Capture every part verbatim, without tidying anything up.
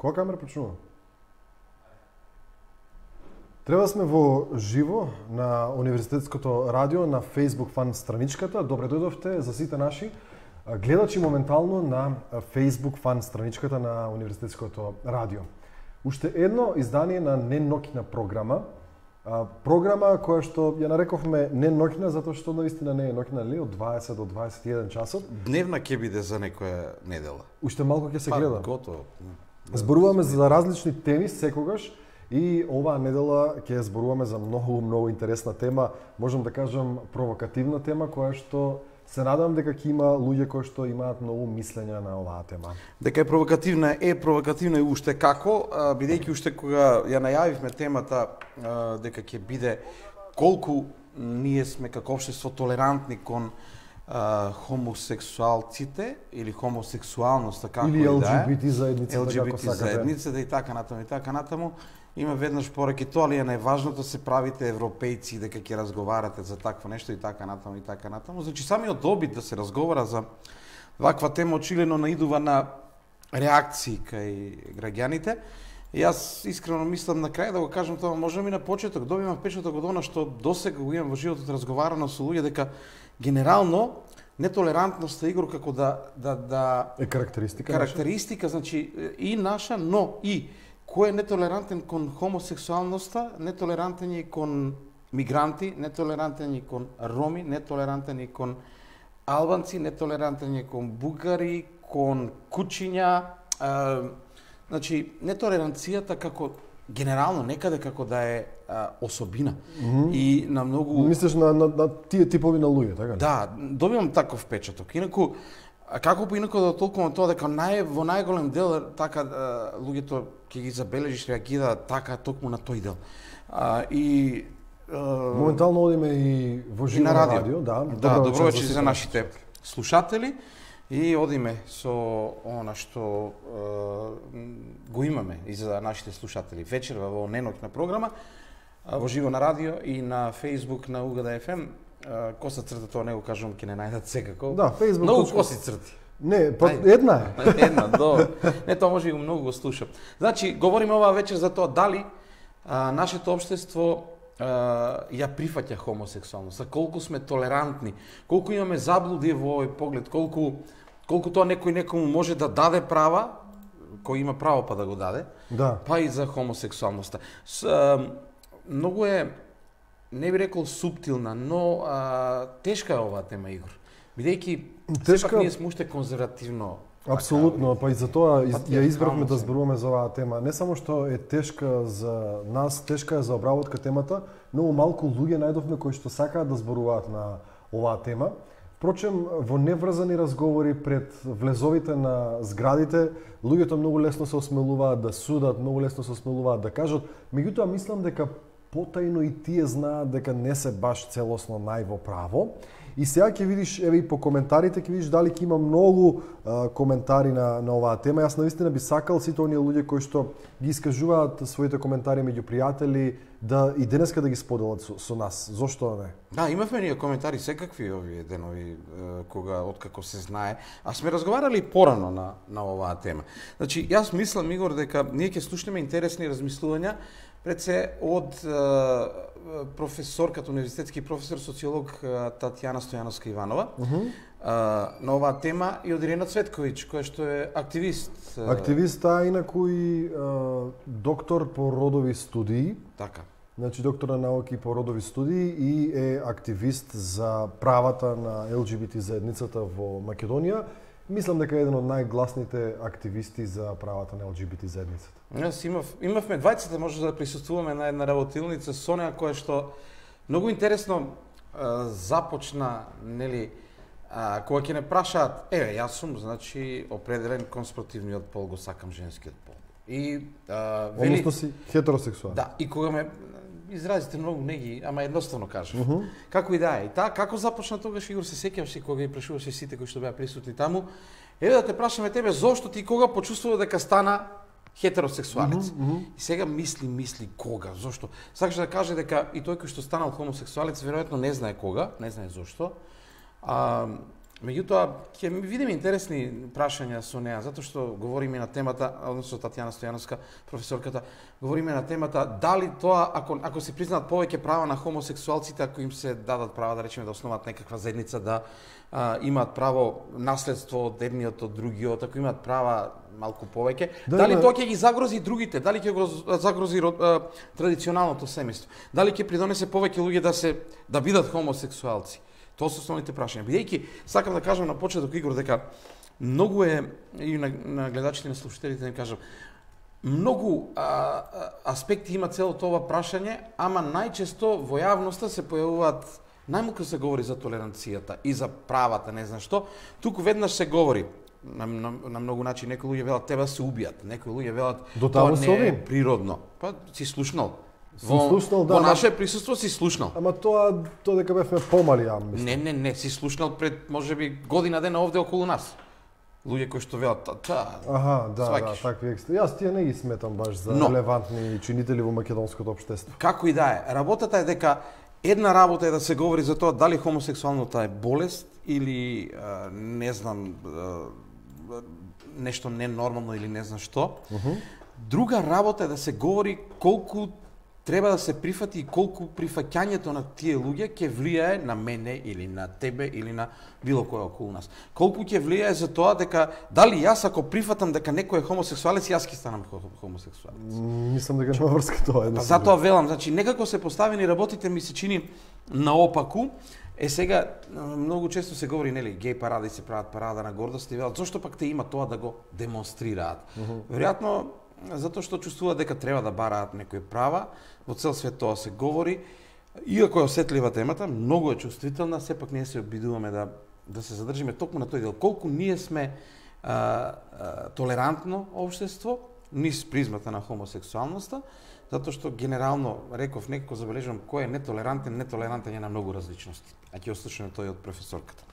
Која камера почнува? Треба сме во живо на Универзитетското радио на Facebook фан страничката. Добре дојдовте за сите наши гледачи моментално на Facebook фан страничката на Универзитетското радио. Уште едно издание на неноќна програма. Програма која што ја нарекохме неноќна затоа што наистина не е ноќна, ли, од дваесет до дваесет и еден часот. Дневна ќе биде за некоја недела. Уште малку ќе се гледа. Па, готово. Зборуваме за различни теми секогаш и оваа недела ќе зборуваме за многу, многу интересна тема, можам да кажам провокативна тема, која што се надам дека ќе има луѓе кои што имаат многу мислења на оваа тема. Дека е провокативна, е провокативна и уште како, бидејќи уште кога ја најавивме темата дека ќе биде колку ние сме како општество толерантни кон Uh, хомосексуалците или хомосексуалноста како или и да е. Или Ел Џи Би Ти заедницата, Ел Џи Би како Ти сакате. заедницата и така натаму и така натаму. Има веднаш пораки тоа, ali е најважното се правите европејци дека ќе разговарате за такво нешто и така натаму и така натаму. Значи самиот обид да се разговара за ваква тема очигледно наидува на реакции кај граѓаните. И јас искрено мислам на крај да го кажам тоа, можам и на почеток, добивам впечаток од она што досега го имам во животот разговарано со луѓе дека генерално нетолерантноста, Игор, како да да да е карактеристика. Карактеристика, наша? Значи и наша, но и кој е нетолерантен кон хомосексуалноста, нетолерантен е кон мигранти, нетолерантен е кон роми, нетолерантен е кон албанци, нетолерантен е кон бугари, кон кучиња, а, значи нетолеранцијата како генерално некаде како да е а, особина. Mm-hmm. И на многу мислиш на, на, на тие типови на луѓе, така ли? Да, добивам таков впечаток. Инаку како поинаку да толкувам тоа дека нај во најголем дел така а, луѓето ќе ги забележиш реагираат така токму на тој дел. А, и а, моментално одиме и во живо на радио, радио да. Да, добро вечер за нашите слушатели. И одиме со она што е, го имаме и за нашите слушатели вечерва во неноќна програма во живо на радио и на Facebook на Угада еф ем. Коса црта, тоа не го кажувам, ќе не најдат секако. Да, Facebook. Многу точка... коси црти. Не, па една е. Една, до. Не, тоа може и многу го слушам. Значи, говориме оваа вечер за тоа дали а, нашето општество Uh, ја прифаќа хомосексуалноста, колку сме толерантни, колку имаме заблуди во овој поглед, колку колку тоа некој некому може да даде права, кој има право па да го даде, да. Па и за хомосексуалноста. С, uh, многу е, не би рекол суптилна, но uh, тешка е оваа тема, Игор. Бидејќи тешка... сепак ние сме уште конзервативно. Апсолутно, па и за тоа ја избравме да зборуваме за оваа тема. Не само што е тешка за нас, тешка е за обработка темата, но малку луѓе најдовме кои што сакаат да зборуваат на оваа тема. Впрочем, во неврзани разговори пред влезовите на зградите, луѓето многу лесно се осмелуваат да судат, многу лесно се осмелуваат да кажат. Меѓутоа, мислам дека потајно и тие знаат дека не се баш целосно најво право. И сега ќе видиш, еве и по коментарите ќе видиш дали ќе има многу а, коментари на на оваа тема. Јас навистина би сакал сите оние луѓе кои што ги искажуваат своите коментари меѓу пријатели да и денеска да ги споделат со, со нас. Зошто не? Да, имавме ние коментари секакви овие денови кога откако се знае. А сме разговарали порано на на оваа тема. Значи, јас мислам, Игор, дека ние ќе слушнеме интересни размислувања пред се од е, професорката, универзитетски професор, социолог Татјана Стојановска Иванова, uh -huh. е, на оваа тема и од Ирена Цветковиќ, која што е активист. Активист, а инаку и е, доктор по родови студии. Така. Значи, доктор на науки по родови студии и е активист за правата на Ел Џи Би Ти заедницата во Македонија. Мислам дека е еден од најгласните активисти за правата на Ел Џи Би Ти заедницата. Јас имав, имавме двајцата може да присуствуваме на една работилница со неа која што многу интересно а, започна, нели, а, кога ќе не прашаат, еве, јас сум, значи, определен конспративниот пол, го сакам женскиот пол. И а, вели... Односно си хетеросексуален. Да, и кога ме изразите многу не ги, ама едноставно кажав. Uh -huh. Како и да е. И таа, како започна тогаш, Игор, се сеќаваш и кога ги прашуваше сите кои што беа присутни таму, еве да те прашаме тебе, зошто ти кога почувствува дека стана хетеросексуалец. Uh -huh. И сега мисли, мисли кога, зошто. Сакаш да каже дека и тој кој што станал хомосексуалец веројатно не знае кога, не знае зошто. А, Меѓутоа, ќе видиме интересни прашања со неа, затоа што говориме на темата, односно Татјана Стојановска, професорката, говориме на темата дали тоа, ако, ако се признаат повеќе права на хомосексуалците, ако им се дадат права, да речеме, да основат некаква заедница, да а, имаат право наследство од едниот од другиот, ако имаат права малку повеќе, да, дали да, тоа ќе ги загрози другите, дали ќе го загрози а, традиционалното семејство, дали ќе придонесе повеќе луѓе да се да бидат хомосексуалци. Тоа се основните прашања. Бидејќи, сакам да кажам на почеток, Игор, дека многу е, и на, на гледачите и на слушателите да им кажам, многу а, аспекти има целото ова прашање, ама најчесто во јавноста се појавуваат, најмалку се говори за толеранцијата и за правата, не знам што, туку веднаш се говори, на, на, на многу начини, некои луѓе велат треба се убијат, некои луѓе велат тоа не е природно. Па си слушнал. Во, слушнал, да, во наше присуство си слушнал. Ама тоа тоа дека бевме помали, ја мислам. Не, не, не, си слушнал пред можеби година дена овде околу нас. Луѓе кои што велат та. Аха, да, свакиш. Да, такви екстри. Јас тие не ги сметам баш за Но, релевантни чинители во македонското општество. Како и да е, работата е дека една работа е да се говори за тоа дали хомосексуалнота е болест или а, не знам а, нешто ненормално или не знам што. Uh -huh. Друга работа е да се говори колку треба да се прифати и колку прифаќањето на тие луѓе ќе влијае на мене или на тебе или на било кој околу нас. Колку ќе влијае за тоа дека дали јас ако прифатам дека некој е хомосексуалец, јас ќе станам хомосексуалец. Мислам дека нема врска тоа. Па затоа велам, значи некако се поставени работите ми се чини наопаку. Е сега многу често се говори, нели, геј паради се прават парада на гордост и велат зошто пак те има тоа да го демонстрираат. Uh -huh. Веројатно затоа што чувствуваат дека треба да бараат некои права, во цел свет тоа се говори. Иако е осетлива темата, многу е чувствителна, сепак ние се обидуваме да да се задржиме токму на тој дел. Колку ние сме а, а, толерантно општество, низ призмата на хомосексуалноста, затоа што генерално, реков, некако забележувам кој е нетолерантен, нетолерантен е на многу различности. А ќе ослушаме тој од професорката.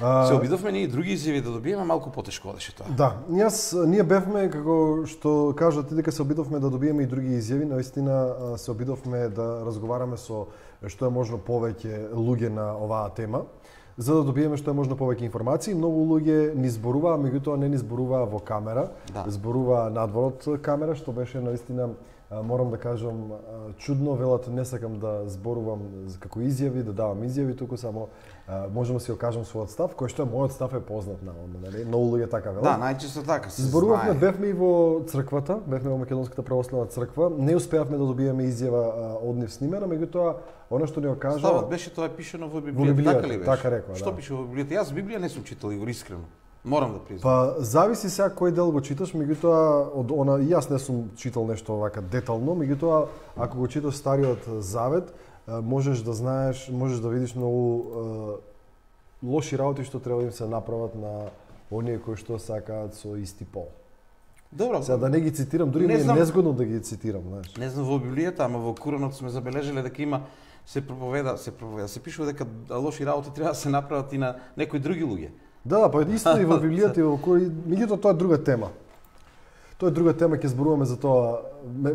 А... Се обидовме ние и други изјави да добиеме, малку потешко одеше тоа. Да, јас ние бевме како што кажа ти дека се обидовме да добиеме и други изјави, наистина се обидовме да разговараме со што е можно повеќе луѓе на оваа тема, за да добиеме што е можно повеќе информации. Многу луѓе ни зборуваа, меѓутоа не ни зборуваа во камера, да. Зборуваа надвор од камера, што беше наистина, морам да кажам, чудно. Велат не сакам да зборувам како изјави, да давам изјави, туку само можам да си окажам својот став, кој што е мојот став е познат наводно, нели? Многу луѓе така велат. Да, најчесто така се зборувавме, знае. бевме и во црквата, бевме во Македонската православна црква. Не успеавме да добиеме изјава од нив снимена, меѓутоа она што ни го кажа... Ставот беше тоа е пишено во Библијата, во Библијата, така ли беше? Така рекла, што да. пише во Библијата? Јас Библија не сум читал, Игор, искрено. Морам да признам. Па зависи сега кој дел го читаш, меѓутоа од она и јас не сум читал нешто вака детално, меѓутоа ако го читаш Стариот Завет, можеш да знаеш, можеш да видиш многу е, лоши работи што треба да им се направат на оние кои што сакаат со исти пол. Добро. Сега да не ги цитирам, дури не ми е знам, незгодно да ги цитирам, знаеш. Не знам во Библијата, ама во Куранот сме забележале дека има се проповеда, се проповеда, се пишува дека лоши работи треба да се направат и на некои други луѓе. Да, па исто и во Библијата и во кој, меѓутоа тоа е друга тема. Тоа е друга тема, ќе зборуваме за тоа.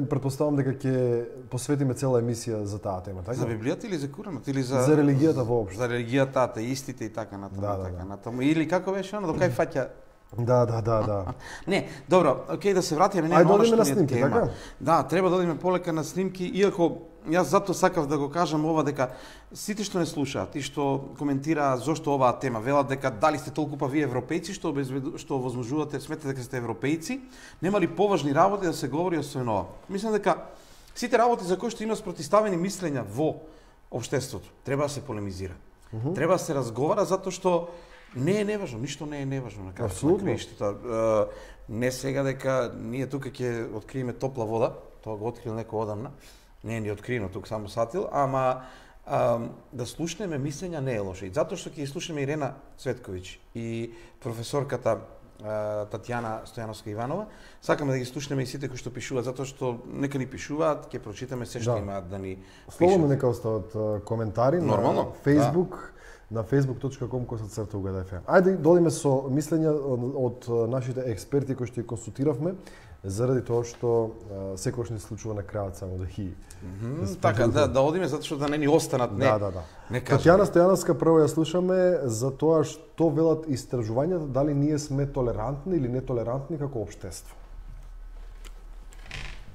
Претпоставам дека ќе посветиме цела емисија за таа тема, така? За Библијата или за Куранот или за за религијата воопшто? За религијата, атеистите и така натаму, да, да, така да. натаму. Или како беше оно, до кај фаќа? Да, да, да, да. Не, добро, окей, да се вратиме на она што ни е тема. Така? Да, треба да одиме полека на снимки, иако јас затоа сакав да го кажам ова дека сите што не слушаат и што коментираат зошто оваа тема, велат дека дали сте толку па вие европејци што обезведу, што возможувате, сметате дека сте европејци, нема ли поважни работи да се говори освен ова. Мислам дека сите работи за кои што има спротивставени мислења во општеството, треба да се полемизира. Uh -huh. Треба да се разговара затоа што не е неважно, ништо не е неважно на крајот на краиштата. Не сега дека ние тука ќе откриеме топла вода, тоа го открил некој одамна. Не е ни откриено тук само сатил, ама а, да слушнеме мислења не е лошо. И затоа што ќе слушнеме Ирена Цветковиќ и професорката а, Татјана Стојановска Иванова, сакаме да ги слушнеме и сите кои што пишуваат, затоа што нека ни пишуваат, ќе прочитаме се што да. Имаат да ни пишат. Слободно нека остават коментари. Нормално, на Facebook, на facebook точка com косацрта у ге де еф ем. Ајде додиме со мислења од нашите експерти кои што ги консултиравме, заради тоа што секогаш не се случува на крајот само да хи. Mm -hmm, така, да, да одиме затоа што да не ни останат, не. Да, да, да. Не Татјана Стојановска прво ја слушаме за тоа што велат истражувањата, дали ние сме толерантни или нетолерантни како општество.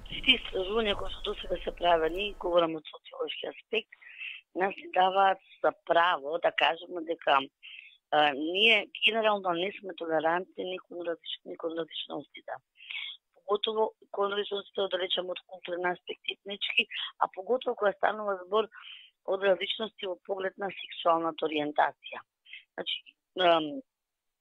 Сите истражувања кои што досега се правени, говорам од социолошки аспект, нас ни даваат за право да кажеме дека а, ние генерално не сме толерантни ни кон различни кон различностите. Поготово кон различностите да речеме од културен аспект, етнички, а поготово кога станува збор од различности во поглед на сексуалната ориентација. Значи, ем,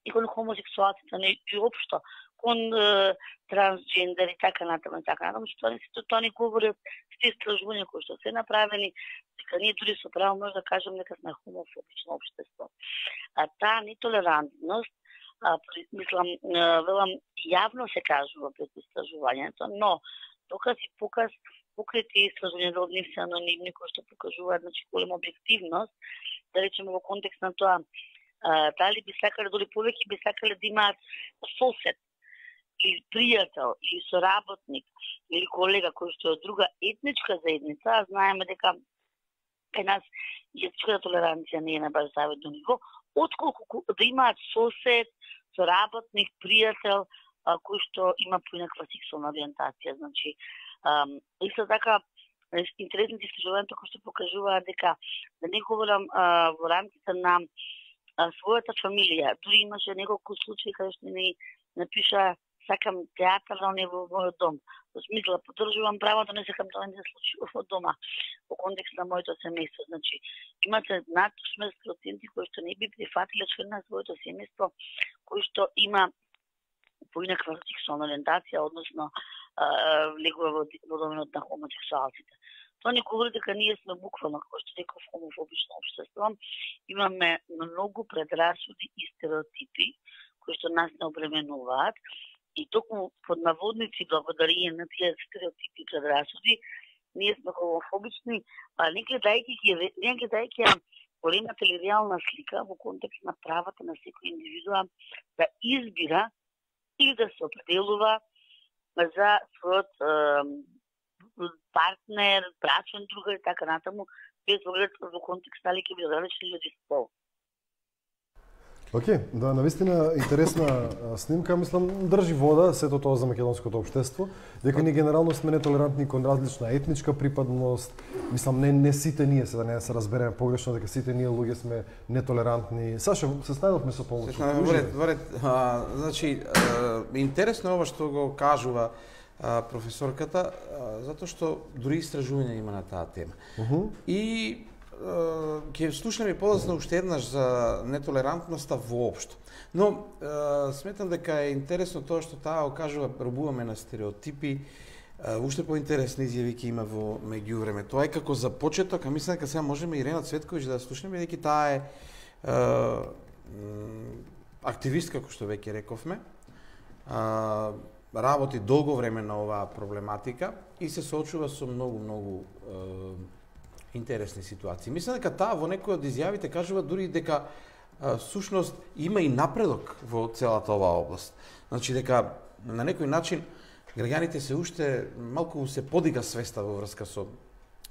и кон хомосексуалците, не и општо, кон е, трансджендер и така натаму и така натаму, што не се тоа не говорат сте истражувања кои што се направени, дека ние дури со право може да кажем дека сме хомофобично општество. А таа нетолерантност, а, мислам, велам, јавно се кажува пред истражувањето, но доказ и показ покрај тие истражувања од нив се анонимни кои што покажуваат, значи, голема објективност, да речеме во контекст на тоа, а, дали би сакале, дали повеќе би сакале да имаат сосед, или пријател, или соработник, или колега кој што е од друга етничка заедница, а знаеме дека кај нас етничката толеранција не е на баш завидно ниво, отколку да имаат сосед, соработник, пријател, а, кој што има поинаква сексуална ориентација. Значи, ам, исто така, интересните истражувања кои што покажуваат дека, да не говорам а, во рамките на а, својата фамилија, дури имаше неколку случаи каде што не напиша сакам театар да не во мојот дом. Во смисла, поддржувам право да не сакам да не се случи во дома, во контекст на моето семејство. Значи, имате над шестнадесет проценти кои што не би прифатиле член на своето семејство, кој што има поинаква сексуална ориентација, односно влегува во, во доменот на хомосексуалците. Тоа не говори дека ние сме буквално, како што реков, хомофобично општество. Имаме многу предрасуди и стереотипи кои што нас не обременуваат. И токму под наводници, благодарение на тие стереотипи и предрасуди, ние сме хомофобични, а не гледајќи ги, не гледајќи големата или реална слика во контекст на правата на секој индивидуа да избира или да се определува за својот е, партнер, брачен другар и така натаму, без оглед во контекст дали ќе биде различни луѓе со пол. Океј, okay, да, навистина интересна снимка, мислам, држи вода сето тоа за македонското општество, дека ние генерално сме нетолерантни кон различна етничка припадност, мислам, не, не сите ние, се да не се разбереме погрешно, дека сите ние луѓе сме нетолерантни. Саша, се снајдовме со помош. Вред, вред, а, значи, а, интересно е ова што го кажува а, професорката, а, затоа што дури истражување има на таа тема. Uh -huh. И ќе слушнеме и подоцна уште еднаш за нетолерантноста воопшто. Но е, сметам дека е интересно тоа што таа го кажува, робуваме на стереотипи, е, уште поинтересни изјави ќе има во меѓувреме. Тоа е како за почеток, а мислам дека сега можеме Ирена Цветковиќ да слушнеме, бидејќи таа е, е активистка, како што веќе рековме. Е, работи долго време на оваа проблематика и се соочува со многу, многу е, интересни ситуации. Мислам дека таа во некои од изјавите кажува дури дека а, сушност има и напредок во целата оваа област. Значи дека на некој начин граѓаните се уште малку се подига свеста во врска со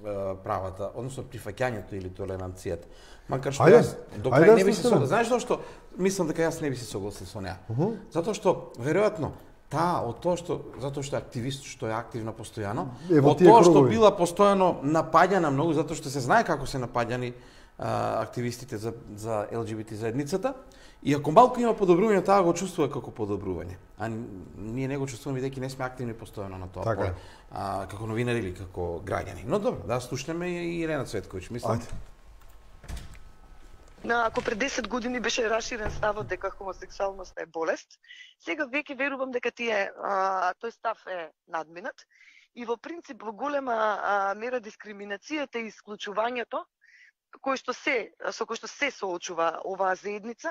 а, правата, односно прифаќањето или толеранцијата. Макар што јас до крај не би се согласил. Знаеш зошто? Мислам дека јас не би се согласил со неа. Uh -huh. Затоа што веројатно таа, од тоа што, затоа што е активист, што е активна постојано, од тоа што била постојано напаѓана многу, затоа што се знае како се напаѓани а, активистите за, за Ел Џи Би Ти заедницата, и ако малку има подобрување, таа го чувствува како подобрување. А ние не го чувствуваме, бидејќи не сме активни постојано на тоа поле, а, како новинари или како граѓани. Но добро, да слушнеме и Ирена Цветковиќ, мислам. Ајде. На, ако пред десет години беше раширен ставот дека хомосексуалноста е болест, сега веќе верувам дека тие, а, тој став е надминат и во принцип во голема а, мера дискриминацијата и исклучувањето кој што се со кој што се соочува оваа заедница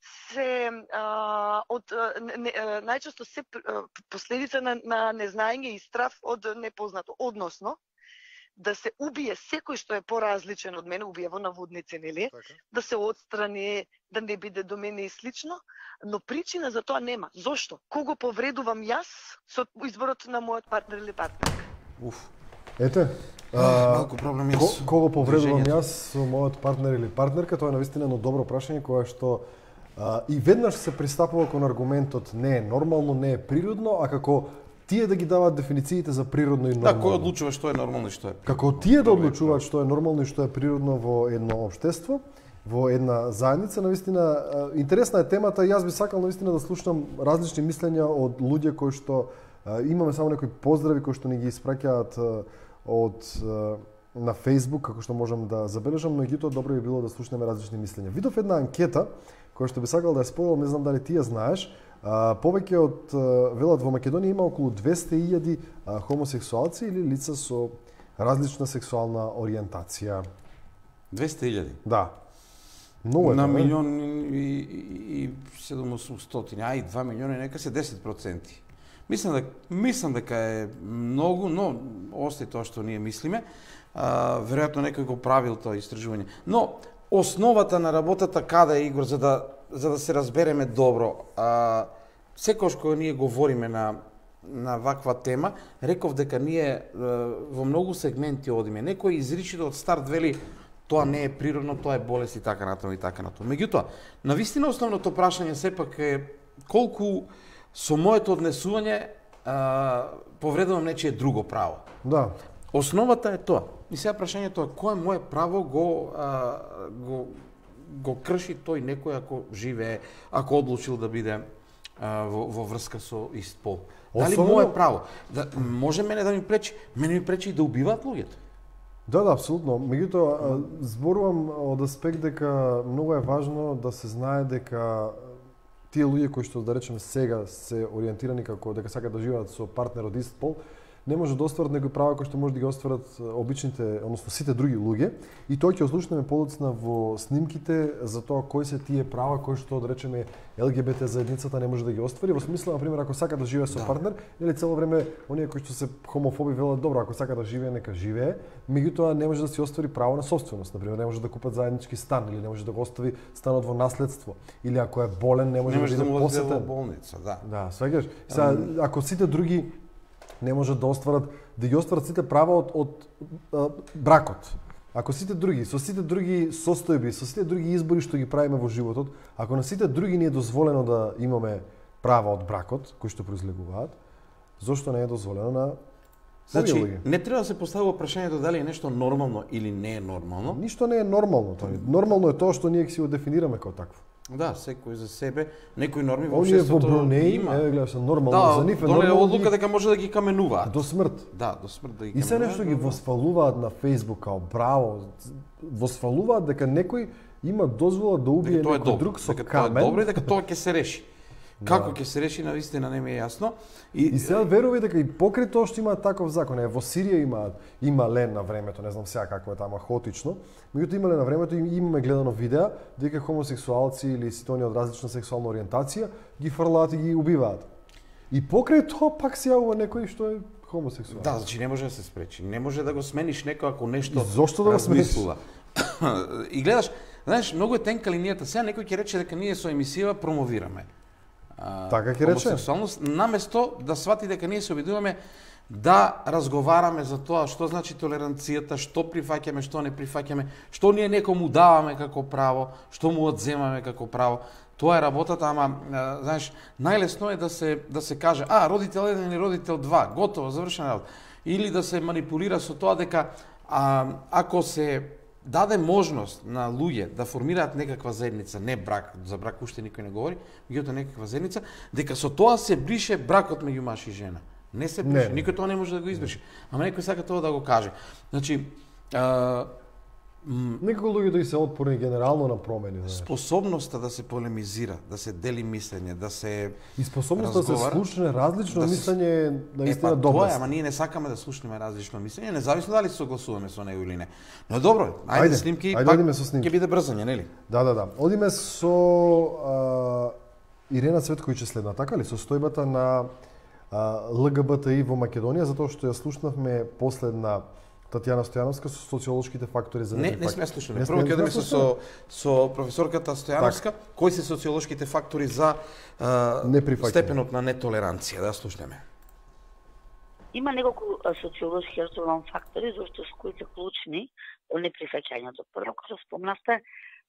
се а, од не, најчесто се последица на, на незнаење и страв од непознато, односно да се убие секој што е поразличен од мене, убие во наводници, нели? Така. Да се отстрани, да не биде до мене и слично, но причина за тоа нема. Зошто? Кого повредувам јас со изборот на мојот партнер или партнерка? Уф. Ете, а, малку проблем јас. Ко, кого повредувам јас со мојот партнер или партнерка, тоа е навистина едно добро прашање кое што а, и веднаш се пристапува кон аргументот не е нормално, не е природно, а како тие да ги даваат дефинициите за природно и нормално. Да, кој одлучува што е нормално и што е? Како тие да одлучуваат што е нормално и што е природно во едно општество, во една заедница, навистина интересна е темата. Јас би сакал навистина да слушнам различни мислења од луѓе кои што а, имаме само некои поздрави кои што ни ги испраќаат од а, на Facebook, како што можам да забележам, но меѓутоа добро би било да слушнеме различни мислења. Видов една анкета која што би сакал да ја споделам, не знам дали ти ја знаеш. А, повеќе од велат во Македонија има околу двесте илјади хомосексуалци или лица со различна сексуална ориентација. двесте илјади? Да. Много е. На не? милион и, и седумстотини, а и два милиона, нека се десет проценти. Мислам дека мислам дека е многу, но остај тоа што ние мислиме. А, веројатно некој го правил тоа истражување. Но основата на работата каде е, Игор, за да за да се разбереме добро. А, секогаш кога ние говориме на на ваква тема, реков дека ние во многу сегменти одиме. Некој изричито од старт вели тоа не е природно, тоа е болест и така натаму и така натаму. Меѓутоа, навистина основното прашање сепак е колку со моето однесување а, повредувам нечие друго право. Да. Основата е тоа. И сега прашањето е кое мое право го а, го го крши тој некој ако живее, ако одлучил да биде а, во, во врска со ист пол. Дали Особено... мое право? Да, може мене да ми пречи? Мене ми пречи и да убиваат луѓето. Да, да, апсолутно. Меѓутоа, зборувам од аспект дека многу е важно да се знае дека тие луѓе кои што да речеме сега се ориентирани како дека сакаат да живеат со партнер од ист пол, не може да остварат некои права кои што може да ги остварат обичните, односно сите други луѓе, и тоа ќе ослушнеме подоцна во снимките за тоа кои се тие права кои што да речеме Ел Ге Бе Те заедницата не може да ги оствари. Во смисла, на пример, ако сака да живее со да. партнер, или цело време оние кои што се хомофоби велат добро, ако сака да живее нека живее, меѓутоа не може да си оствари право на собственост. На пример, не може да купат заеднички стан или не може да го остави станот во наследство, или ако е болен не може, не може да, да му посетен во болница, да. Да, сваќаш. Сега ако сите други не може да остварат, да ги остварат сите права од, од, од бракот. Ако сите други, со сите други состојби, со сите други избори што ги правиме во животот, ако на сите други не е дозволено да имаме права од бракот, кои што произлегуваат, зошто не е дозволено на Значи, луѓе? не треба да се поставува прашањето дали е нешто нормално или не е нормално. Ништо не е нормално, тоа. Нормално е тоа што ние си го дефинираме како такво. Да, секој за себе, некои норми во Оние во општеството Брунеј, има. е, гледаш, нормално Да, за нив е донеле нормално одлука ги- дека може да ги каменуваат. до смрт. Да, до смрт да ги И се каменуваат. нешто ги восфалуваат на Facebook као браво, восфалуваат дека некој има дозвола да убие Дека тоа е некој добро, друг со дека тоа е камен. добро и дека тоа ќе се реши. Како ќе се реши, навистина не ми е јасно. И сега верувај дека и покрај тоа што има таков закон, е во Сирија има има лен на времето, не знам сега како е тама хаотично, меѓутоа има лен на времето и имаме гледано видеа дека хомосексуалци или сите оние од различна сексуална ориентација ги фрлаат и ги убиваат. И покрај тоа пак се јавува некој што е хомосексуален. Да, значи не може да се спречи. Не може да го смениш некој ако нешто И зошто да го размислува. И гледаш, знаеш, многу е тенка линијата. Сега некој ќе рече дека ние со емисија промовираме а, Така ќе рече. хомосексуалност, наместо да свати дека ние се обидуваме да разговараме за тоа што значи толеранцијата, што прифаќаме, што не прифаќаме, што ние некому даваме како право, што му одземаме како право. Тоа е работата, ама а, знаеш, најлесно е да се да се каже, а родител еден или родител два, готово, завршена работа. Или да се манипулира со тоа дека а, ако се даде можност на луѓе да формираат некаква заедница, не брак, за брак уште никој не говори, меѓутоа некаква заедница, дека со тоа се брише бракот меѓу маж и жена. Не се брише, Не. никој тоа не може да го избрише. Ама некој сака тоа да го каже. Значи, а, м, Некако луѓето и се отпорни генерално на промени, знаеш. способноста да се полемизира, да се дели мислење, да се И способноста да се разговара, слушне различно да се- мислење е Е, наистина па добро. тоа е, ама ние не сакаме да слушнеме различно мислење, независно дали се согласуваме со него или не. Но добро, ајде, Ајде, снимки, ајде пак одиме со снимки. ќе биде брзање, нели? Да, да, да. Одиме со а, Ирена Цветковиќ следна, така ли? Состојбата на а, Л Г Б Т И во Македонија, затоа што ја слушнавме последна Татјана Стојановска со социолошките фактори за Не, не сме слушнале. Прво ќе одиме со, со со професорката Стојановска, кои се социолошките фактори за uh, степенот на нетолеранција, да слушнеме. Има неколку социолошки фактори зашто кои се клучни во неприфаќањето. Прво, како спомнавте,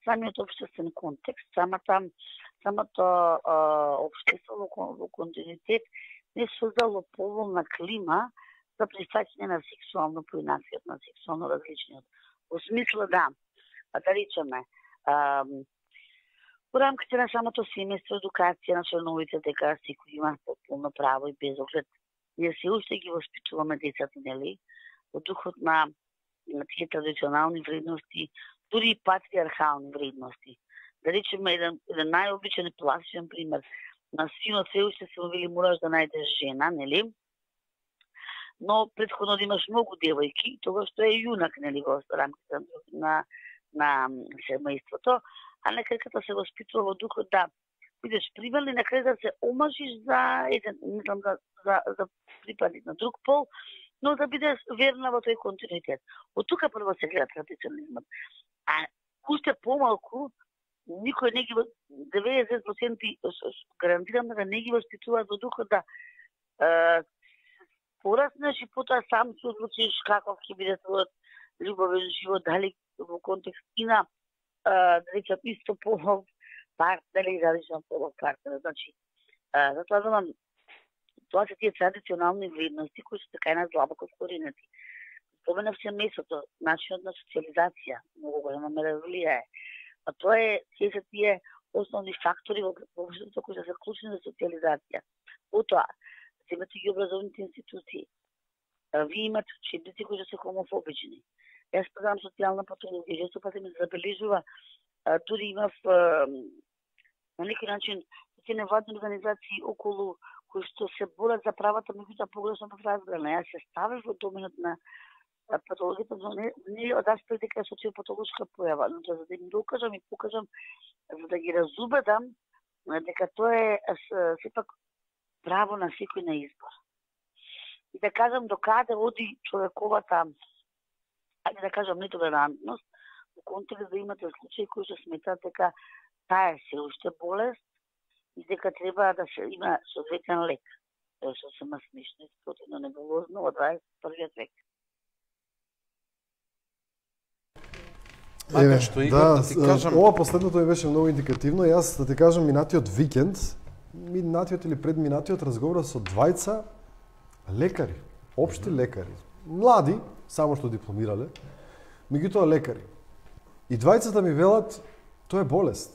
самиот општествен контекст, самата самото општество во континуитет не создало поволна клима за прифаќање на сексуално поинаквиот, на сексуално различниот. Во смисла да, да речеме, во рамките на самото семејство, едукација на членовите дека секој има полно право и без оглед. Ние се уште ги воспитуваме децата, нели, во духот на, на тие традиционални вредности, дури и патриархални вредности. Да речеме еден, еден најобичен и пластичен пример. На синот се уште се увели мораш да најдеш жена, нели? Но претходно да имаш многу девојки, тоа што е јунак, нели, во рамките на, на семејството, а некако се воспитува во духот да бидеш пример и на крај да се омажиш за еден, не знам, за, за, за припадник на друг пол, но да бидеш верна во тој континуитет. Од тука прво се гледа традиционализмот. А уште помалку, никој не ги, деветдесет проценти гарантирам да не ги воспитуваат во духот да е, пораснеш и потоа сам се одлучиш каков ќе биде твојот љубовен живот, дали во контекст и на, да речам, исто полов партнер или различен полов партнер. Значи, а, затоа знам, тоа се тие традиционални вредности кои се така и на длабоко вкоренети. Споменав семејството, начинот на социализација, многу голема мера влијае. А тоа е, тие се тие основни фактори во општеството кои се клучни за социализација. Потоа, имате ги образовните институции. Вие имате учебници кои се хомофобични. Јас предавам социјална патологија, често пати ми забележува, дури имав на некој начин тие невладни организации околу кои што се борат за правата, меѓутоа погрешно разграна. Јас се ставив во доменот на патологијата, но не, не од аспект дека е социопатолошка појава, но за да им докажам и покажам, за да ги разубедам дека тоа е сепак право на секој на избор. И да кажам до каде оди човековата, ајде да кажам, нетолерантност, во контекст да имате случаи кои што сметаат дека таа е се уште болест и дека треба да се има соодветен лек. Тоа што се смешно и спротивно неболозно во дваесет и првиот век. Еве, да, да ти кажам... ова последното ми беше многу индикативно. Јас да ти кажам, минатиот викенд, минатиот или предминатиот разговора со двајца лекари, општи лекари, млади, само што дипломирале, меѓутоа лекари. И двајцата ми велат, тоа е болест.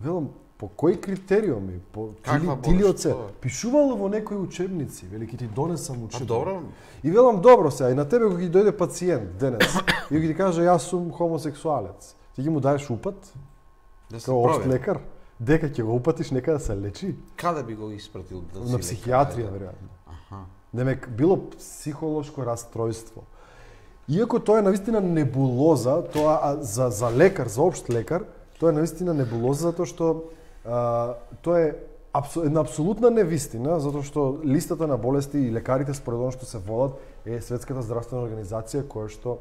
Велам, по кои критериуми, по тилиоце, пишувало во некои учебници, вели ки ти донесам учебник. Добро. И велам, добро се, и на тебе кога ќе дојде пациент денес, и ќе ти каже јас сум хомосексуалец, ти ги му даеш упат? Да се као општ лекар? Дека ќе го упатиш нека да се лечи? Каде би го испратил? Да на психијатрија, веројатно. Аха. Демек, било психолошко растројство. Иако тоа е навистина небулоза, тоа за, за лекар, за општ лекар, тоа е навистина небулоза затоа што а, тоа е абсу, една апсолутна невистина, затоа што листата на болести и лекарите според она што се водат е Светската здравствена организација која што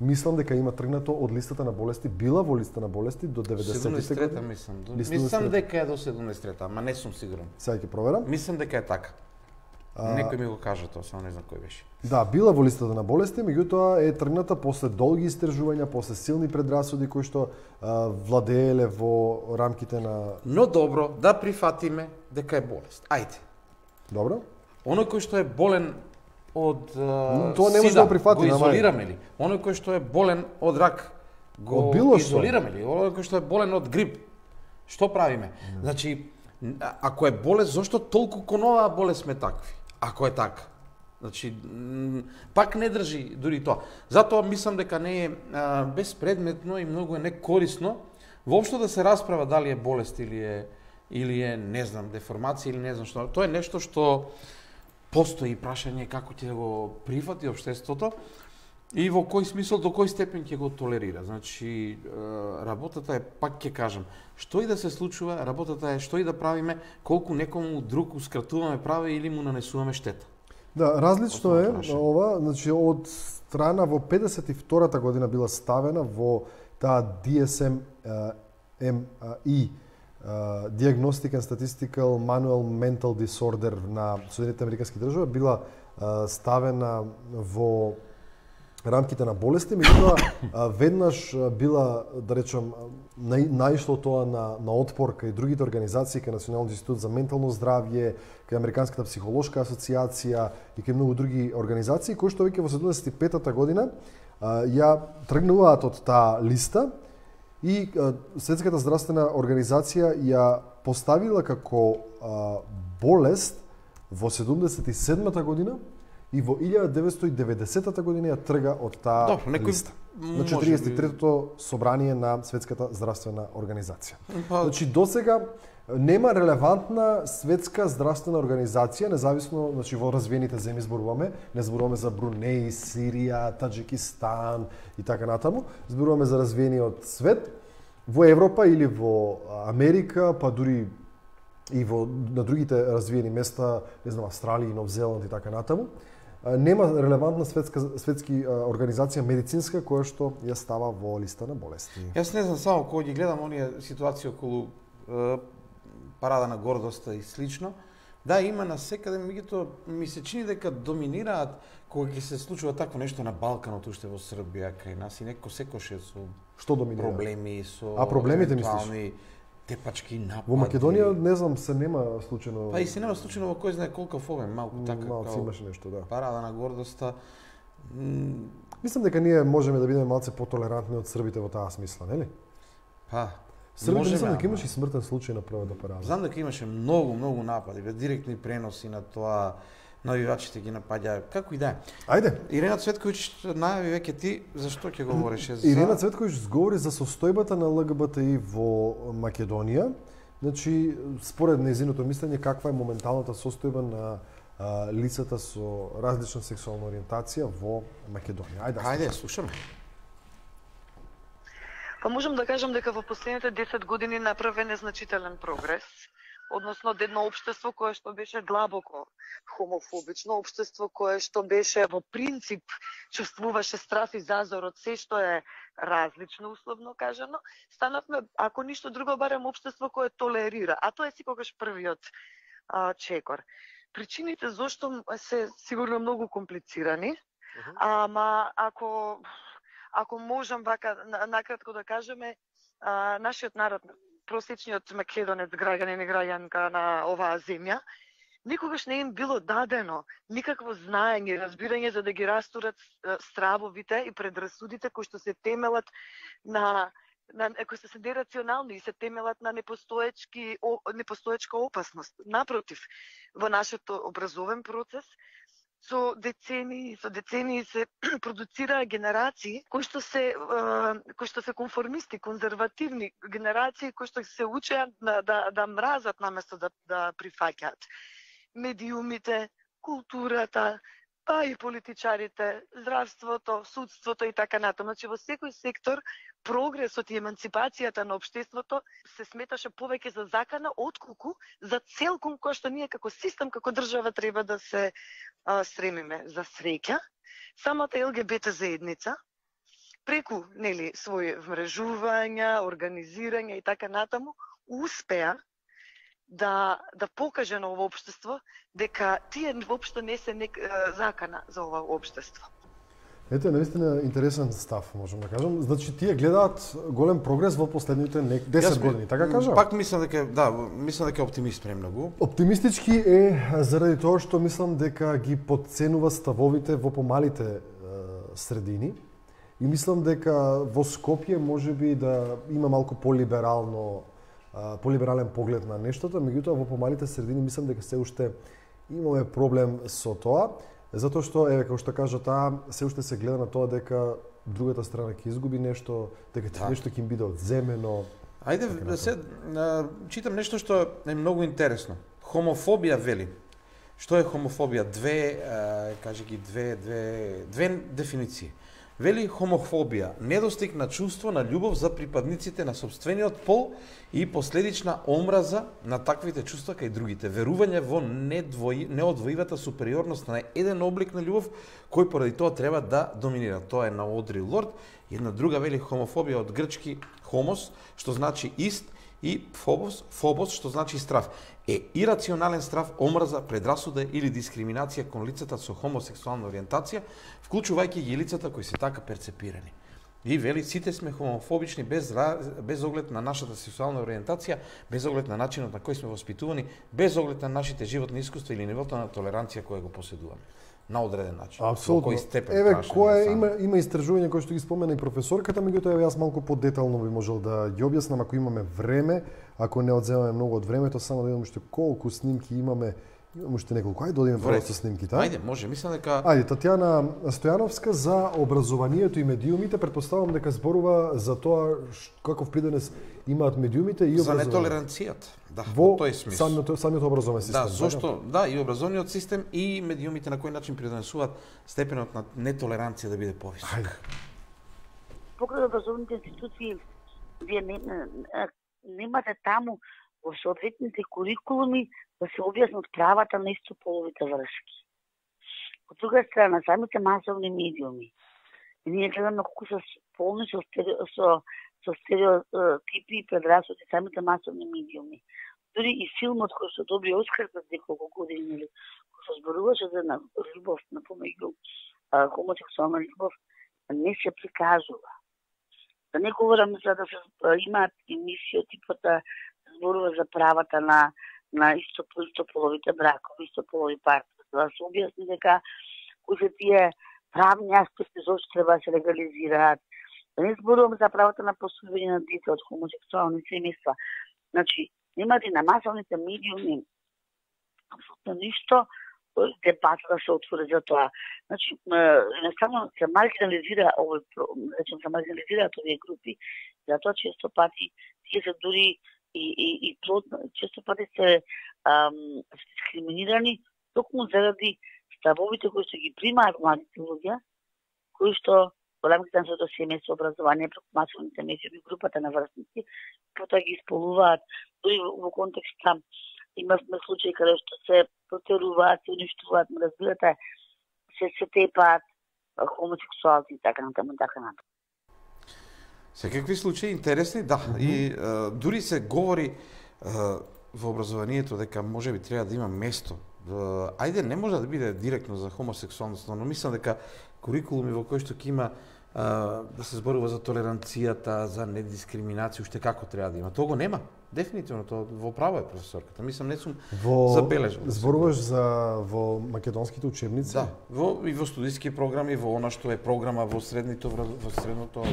мислам дека има тргнато од листата на болести, била во листа на болести до деветдесетите години. Мислам, до... мислам дека е до седумнаесет трета, ама не сум сигурен. Сега ќе проверам. Мислам дека е така. А... Некој ми го кажа тоа, само не знам кој беше. Да, била во листата на болести, меѓутоа е тргната после долги истражувања, после силни предрасуди кои што а, владееле во рамките на... Но добро, да прифатиме дека е болест. Ајде. Добро. Оној кој што е болен од uh, тоа не може да го прифатиме, го изолираме ли? Оној кој што е болен од рак, го изолираме ли? Оној кој што е болен од грип, што правиме? Mm. Значи, ако е болест, зошто толку кон оваа болест сме такви? Ако е така. Значи, пак не држи дури тоа. Затоа мислам дека не е а, безпредметно и многу е некорисно воопшто да се расправа дали е болест или е или е, не знам, деформација или не знам што. Тоа е нешто што постои прашање како ќе го прифати општеството и во кој смисол, до кој степен ќе го толерира. Значи, работата е, пак ќе кажам, што и да се случува, работата е што и да правиме, колку некому друг ускратуваме права или му нанесуваме штета. Да, различно е ова, значи од страна во педесет и втората година била ставена во таа Ди Ес Ем И Diagnostic and Statistical Manual Mental Disorder на Соединетите Американски држави била ставена во рамките на болести, меѓутоа веднаш била, да речам, наишло тоа на, на отпор кај другите организации, кај Националниот институт за ментално здравје, кај Американската психолошка асоциација и кај многу други организации, кои што веќе во седумдесет и петата година ја тргнуваат од таа листа и Светската здравствена организација ја поставила како болест во седумдесет и седмата година и во илјада деветстотини и деветдесетата година ја трга од таа Добре, некој... листа. На четириесет и третото собрание на Светската здравствена организација. Па... Значи, досега нема релевантна светска здравствена организација, независно, значи во развиените земји зборуваме, не зборуваме за Брунеј, Сирија, Таџикистан и така натаму, зборуваме за развиениот свет, во Европа или во Америка, па дури и во на другите развиени места, не знам, Австралија, Нов Зеланд и така натаму. Нема релевантна светска светски организација медицинска која што ја става во листа на болести. Јас не знам, само кога ги гледам оние ситуации околу е, парада на гордоста и слично, да, има насекаде, меѓутоа ми се чини дека доминираат кога ќе се случува такво нешто на Балканот, уште во Србија, кај нас и некој секоше со што доминира? Проблеми со А проблемите мислиш? Тепачки напади. Во Македонија не знам, се нема случајно. Па и се нема случајно во кој знае колку фобен, малку така. Малку имаше нешто, да. Парада на гордоста. М... Мислам дека ние можеме да бидеме малце потолерантни од србите во таа смисла, нели? Па, србите мислам дека имаше и смртен случај на првата парада. Знам дека имаше многу, многу напади, бе директни преноси на тоа, навивачите ги напаѓа, како и да е. Ајде. Ирена Цветковиќ најави веќе ти зашто ќе говореше за Ирена Цветковиќ зговори за состојбата на Л Г Б Т И во Македонија. Значи, според нејзиното мислење, каква е моменталната состојба на а, лицата со различна сексуална ориентација во Македонија. Ајде, Ајде, слушаме. Па можам да кажам дека во последните десет години направен е значителен прогрес, односно од едно општество кое што беше длабоко хомофобично, општество кое што беше во принцип чувствуваше страф и зазор од се што е различно, условно кажано, станавме, ако ништо друго, барем општество кое толерира, а тоа е секогаш првиот а, чекор. Причините зошто се сигурно многу комплицирани, uh-huh. ама ако ако можам вака накратко да кажеме, а, нашиот народ, просечниот македонец, граѓанин и граѓанка на оваа земја, никогаш не им било дадено никакво знаење, разбирање за да ги растурат стравовите и предрасудите кои што се темелат на на кои се нерационални и се темелат на непостоечки непостоечка опасност. Напротив, во нашиот образовен процес со децении, со децении се продуцираа генерации кои што се кои што се конформисти, конзервативни генерации кои што се учеа да да, да мразат наместо да да прифаќаат. Медиумите, културата, па и политичарите, здравството, судството и така натаму. Значи во секој сектор прогресот и еманципацијата на општеството се сметаше повеќе за закана отколку за цел кон кој што ние како систем, како држава треба да се а, стремиме. За среќа, самата Л Г Б Т заедница преку нели своји вмрежувања, организирање и така натаму успеа да да покаже на ова општество дека тие воопшто не се нек, закана за ова општество. Ете, наистина интересен став, можам да кажам. Значи тие гледаат голем прогрес во последните десет години, така кажа? Пак мислам дека да, мислам дека е оптимист премногу. Оптимистички е заради тоа што мислам дека ги подценува ставовите во помалите е, средини и мислам дека во Скопје можеби да има малку полиберално полиберален поглед на нештото, меѓутоа во помалите средини мислам дека се уште имаме проблем со тоа, затоа што еве како што кажа таа се уште се гледа на тоа дека другата страна ќе изгуби нешто, дека да. нешто ќе им биде одземено. Ајде да се читам нешто што е многу интересно. Хомофобија вели. Што е хомофобија? Две, кажи ги две, две, две дефиниции. Вели хомофобија, недостиг на чувство на љубов за припадниците на сопствениот пол и последична омраза на таквите чувства кај другите. Верување во недвои, неодвоивата супериорност на еден облик на љубов кој поради тоа треба да доминира. Тоа е на Одри Лорд. Една друга вели хомофобија од грчки хомос, што значи ист, и фобос, фобос, што значи страв. Е ирационален страв, омраза, предрасуда или дискриминација кон лицата со хомосексуална ориентација, вклучувајќи ги лицата кои се така перцепирани. И вели, сите сме хомофобични без, без оглед на нашата сексуална ориентација, без оглед на начинот на кој сме воспитувани, без оглед на нашите животни искуства или нивото на толеранција која го поседуваме. На одреден начин. Апсолутно. Еве, кој има има истражување кои што ги спомена и професорката, меѓутоа јас малку подетално би можел да ги објаснам ако имаме време, ако не одземаме многу од времето, само да видиме уште колку снимки имаме. Имаме уште неколку. Ајде да одиме прво со снимките. Ајде, може, мислам дека Ајде, Татјана Стојановска за образованието и медиумите, претпоставувам дека зборува за тоа каков придонес имаат медиумите и за образованието. нетолеранцијата. Да, во тој смисол. Самиот, самиот образовен систем. Да, зошто? Да, и образовниот систем и медиумите на кој начин придонесуваат степенот на нетолеранција да биде повисок. Ајде. Покрај образовните институции, вие не, немате таму во соодветните курикулуми да се објаснат правата на истополовите врски. Од друга страна, самите масовни медиуми, и ние гледаме колку се полни со, стерео, со, со стереотипи и предрасуди самите масовни медиуми. Дури и филмот кој што доби Оскар пред неколку години, кој што зборуваше за на љубов на помеѓу хомосексуална љубов, не се прикажува. Да не говорам за да се имаат емисија типот да зборува за правата на на истополовите бракови, истополови партнери, да се објасни дека кои се тие правни аспекти зашто треба да се легализираат. Да не зборувам за правата на посвојување на дете од хомосексуални семејства. Значи, нема и на масовните медиуми апсолутно ништо дебата да се отвори за тоа. Значи, едноставно се маргинализира овој, речем, се маргинализираат овие групи, затоа често пати тие се дури и и и плотно, често пати се ам, дискриминирани токму заради ставовите кои што ги примаат младите луѓе, кои што во рамките на своето семејство образование преку масовните медиуми, групата на врсници, потоа ги исполнуваат, дури во контекста имавме случаи каде што се протеруваат, се уништуваат, разбирате, се се тепаат хомосексуалци и така натаму и така натаму. Секакви случаи интересни, да, mm -hmm. и а, дури се говори а, во образованието дека може би треба да има место. А, ајде, не може да биде директно за хомосексуалност, но мислам дека курикулуми во кои што ќе има а, да се зборува за толеранцијата, за недискриминација, уште како треба да има. Тоа го нема. Дефинитивно, тоа во право е професорката. Мислам, не сум во... забележал. Зборуваш за во македонските учебници? Да, во, и во студиски програми, во она што е програма во средното, во средното.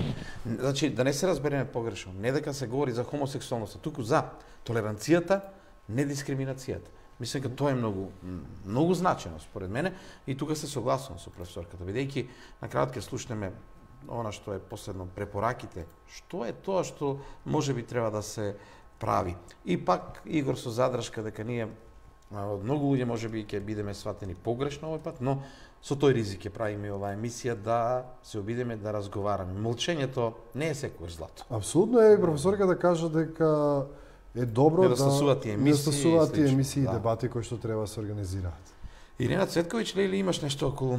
Значи, да не се разбереме погрешно, не дека се говори за хомосексуалноста, туку за толеранцијата, недискриминацијата. Мислам дека тоа е многу многу значено според мене и тука се согласувам со професорката, бидејќи на крајот ќе слушнеме она што е последно препораките, што е тоа што можеби треба да се прави. И пак Игор со задршка дека ние од многу луѓе можеби ќе бидеме сватени погрешно овој пат, но со тој ризик ќе правиме оваа емисија да се обидеме да разговараме. Молчењето не е секогаш злато. Апсолутно е, професорка да кажа дека е добро да недостасуваат тие емисии, недостасуваат тие емисии и да. дебати кои што треба да се организираат. Ирена Цветковиќ, лели имаш нешто околу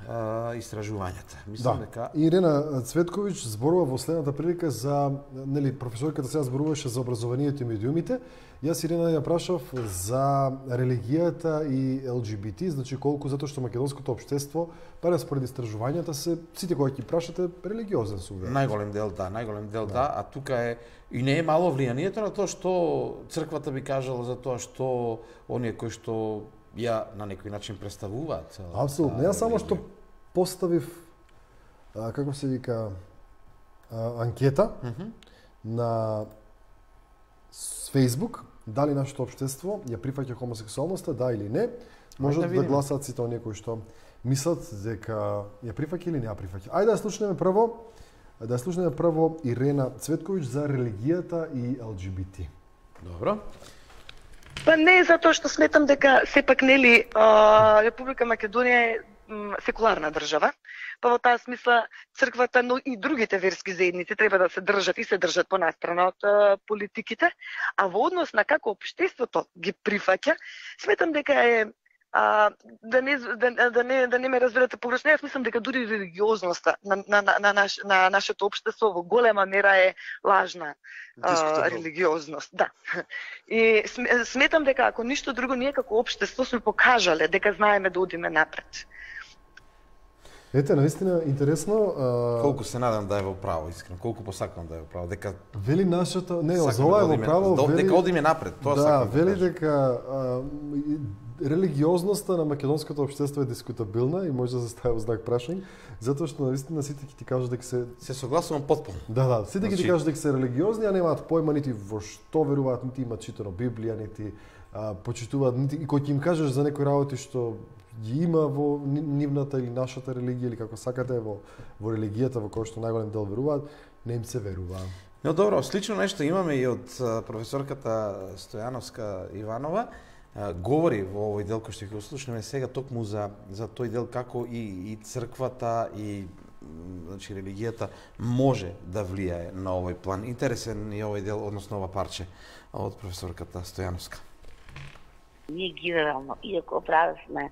а, истражувањата? Мислам да. дека Ирена Цветковиќ зборува во следната прилика за, нели, професорката сега зборуваше за образованието и медиумите. Јас Ирена ја прашав за религијата и Ел Џи Би Ти, значи колку затоа што македонското општество, барем според истражувањата се сите кои ќе прашате религиозен су. Најголем дел да, најголем дел да. да, а тука е и не е мало влијанието на тоа што црквата би кажала за тоа што оние кои што ја на некој начин представуваат. Апсолутно. Јас само што поставив, а, како се вика, а, анкета mm -hmm. на Facebook, дали нашето општество ја прифаќа хомосексуалноста, да или не, можат да, да гласаат сите оние кои што мислат дека ја прифаќа или не ја прифаќа. Ајде да слушнеме прво, да слушнеме прво Ирена Цветковиќ за религијата и Ел Џи Би Ти. Добро. Па не затоа што сметам дека сепак нели Република Македонија е секуларна држава. па во таа смисла црквата, но и другите верски заедници треба да се држат и се држат понастрана од а, политиките, а во однос на како општеството ги прифаќа, сметам дека е А, да, не, да, да, не, да не ме разберете погрешно, јас мислам дека дури религиозноста на, на, на, на, наш, на нашето општество во голема мера е лажна а, религиозност. Да. И сметам дека ако ништо друго, ние како општество сме покажале дека знаеме да одиме напред. Ете, наистина интересно. А... Колку се надам да е во право, искрено. Колку посакам да е во право, дека вели нашата, не, за ова е во право, да, вели дека одиме напред, тоа да, сакам. Да, вели дека а, религиозноста на македонското општество е дискутабилна и може да се стави во знак прашање, затоа што наистина сите ќе ти кажат дека се се согласувам потполно. Да, да, сите ќе значи... ти кажат дека се религиозни, а немаат појма нити во што веруваат, нити имаат читано Библија, нити а, почитуваат, нити и кој ќе им кажеш за некои работи што ги има во нивната или нашата религија или како сакате во во религијата во која што најголем дел веруваат, не им се верува. Но добро, слично нешто имаме и од професорката Стојановска Иванова. Говори во овој дел кој што ќе го слушнеме сега токму за за тој дел како и и црквата и значи религијата може да влијае на овој план. Интересен е овој дел, односно ова парче од професорката Стојановска. Ние генерално, иако правевме,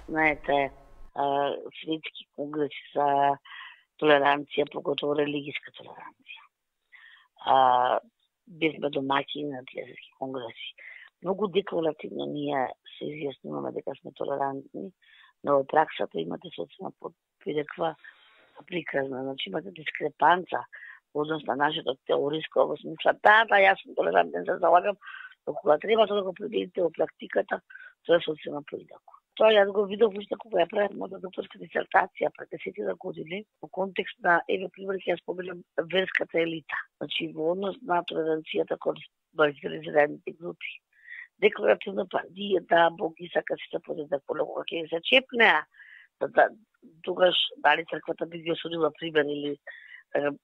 знаете, светски конгреси за толеранција, поготово религијска толеранција. Бевме домаќини на тие светски конгреси. Многу декларативно ние се изјаснуваме дека сме толерантни, но во праксата имате соцна подпиреква приказна, значи имате дискрепанца во однос на нашето теориско во смисла, да, да, јас сум толерантен, се залагам, но кога треба тоа да го приведете во практиката, тоа е социјално поидако. Тоа јас го видов уште кога ја правев мојата докторска дисертација пред десет години во контекст на, еве пример ќе ја споменам, верската елита. Значи во однос на толеранцијата кон маргинализираните групи. Декларативно партијата, Бог ги сака сите подеднак, кога ќе се чепнеа, да, да, тогаш дали црквата би ги осудила пример или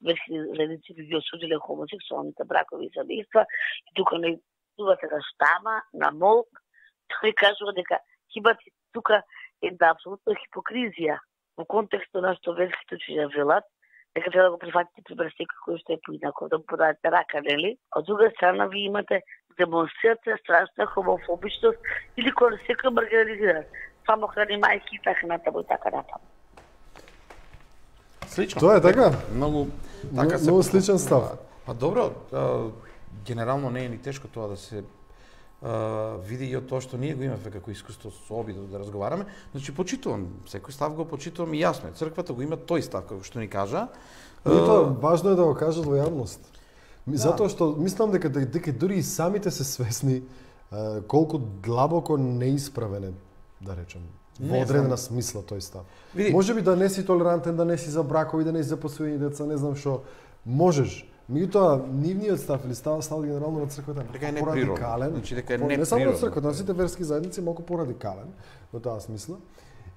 верски заедници би ги осудиле хомосексуалните бракови и семејства, и тука не идувате на штама, на молк, тој кажува дека имате тука една апсолутна хипокризија во контекстот на што верските учења велат, дека треба да го прифатите пример секој кој што е поинаков, да му подадете рака, нели? Од друга страна ви имате демонстрација страшна хомофобичност или кога секој маргинализиран. Само храни мајки и така натаму и така натаму. Слично. Тоа е така? Многу така се многу сличен став. Па добро, генерално не е ни тешко тоа да се Uh, види и од тоа што ние го имаме како искуство со обидот да разговараме. Значи почитувам, секој став го почитувам и јасно е. Црквата го има тој став како што ни кажа. Но uh, тоа важно е да го кажат во јавност. Да. Затоа што мислам дека дека дури и самите се свесни uh, колку длабоко неисправен е, да речем, во не, одредена знам. Смисла тој став. Види. Може би да не си толерантен, да не си за бракови, да не си за посвоени деца, не знам што, можеш. Меѓутоа, нивниот став или став, став генерално на црквата е малку порадикален. Значи дека е по, не само на црквата, на сите верски заедници малку порадикален во таа смисла.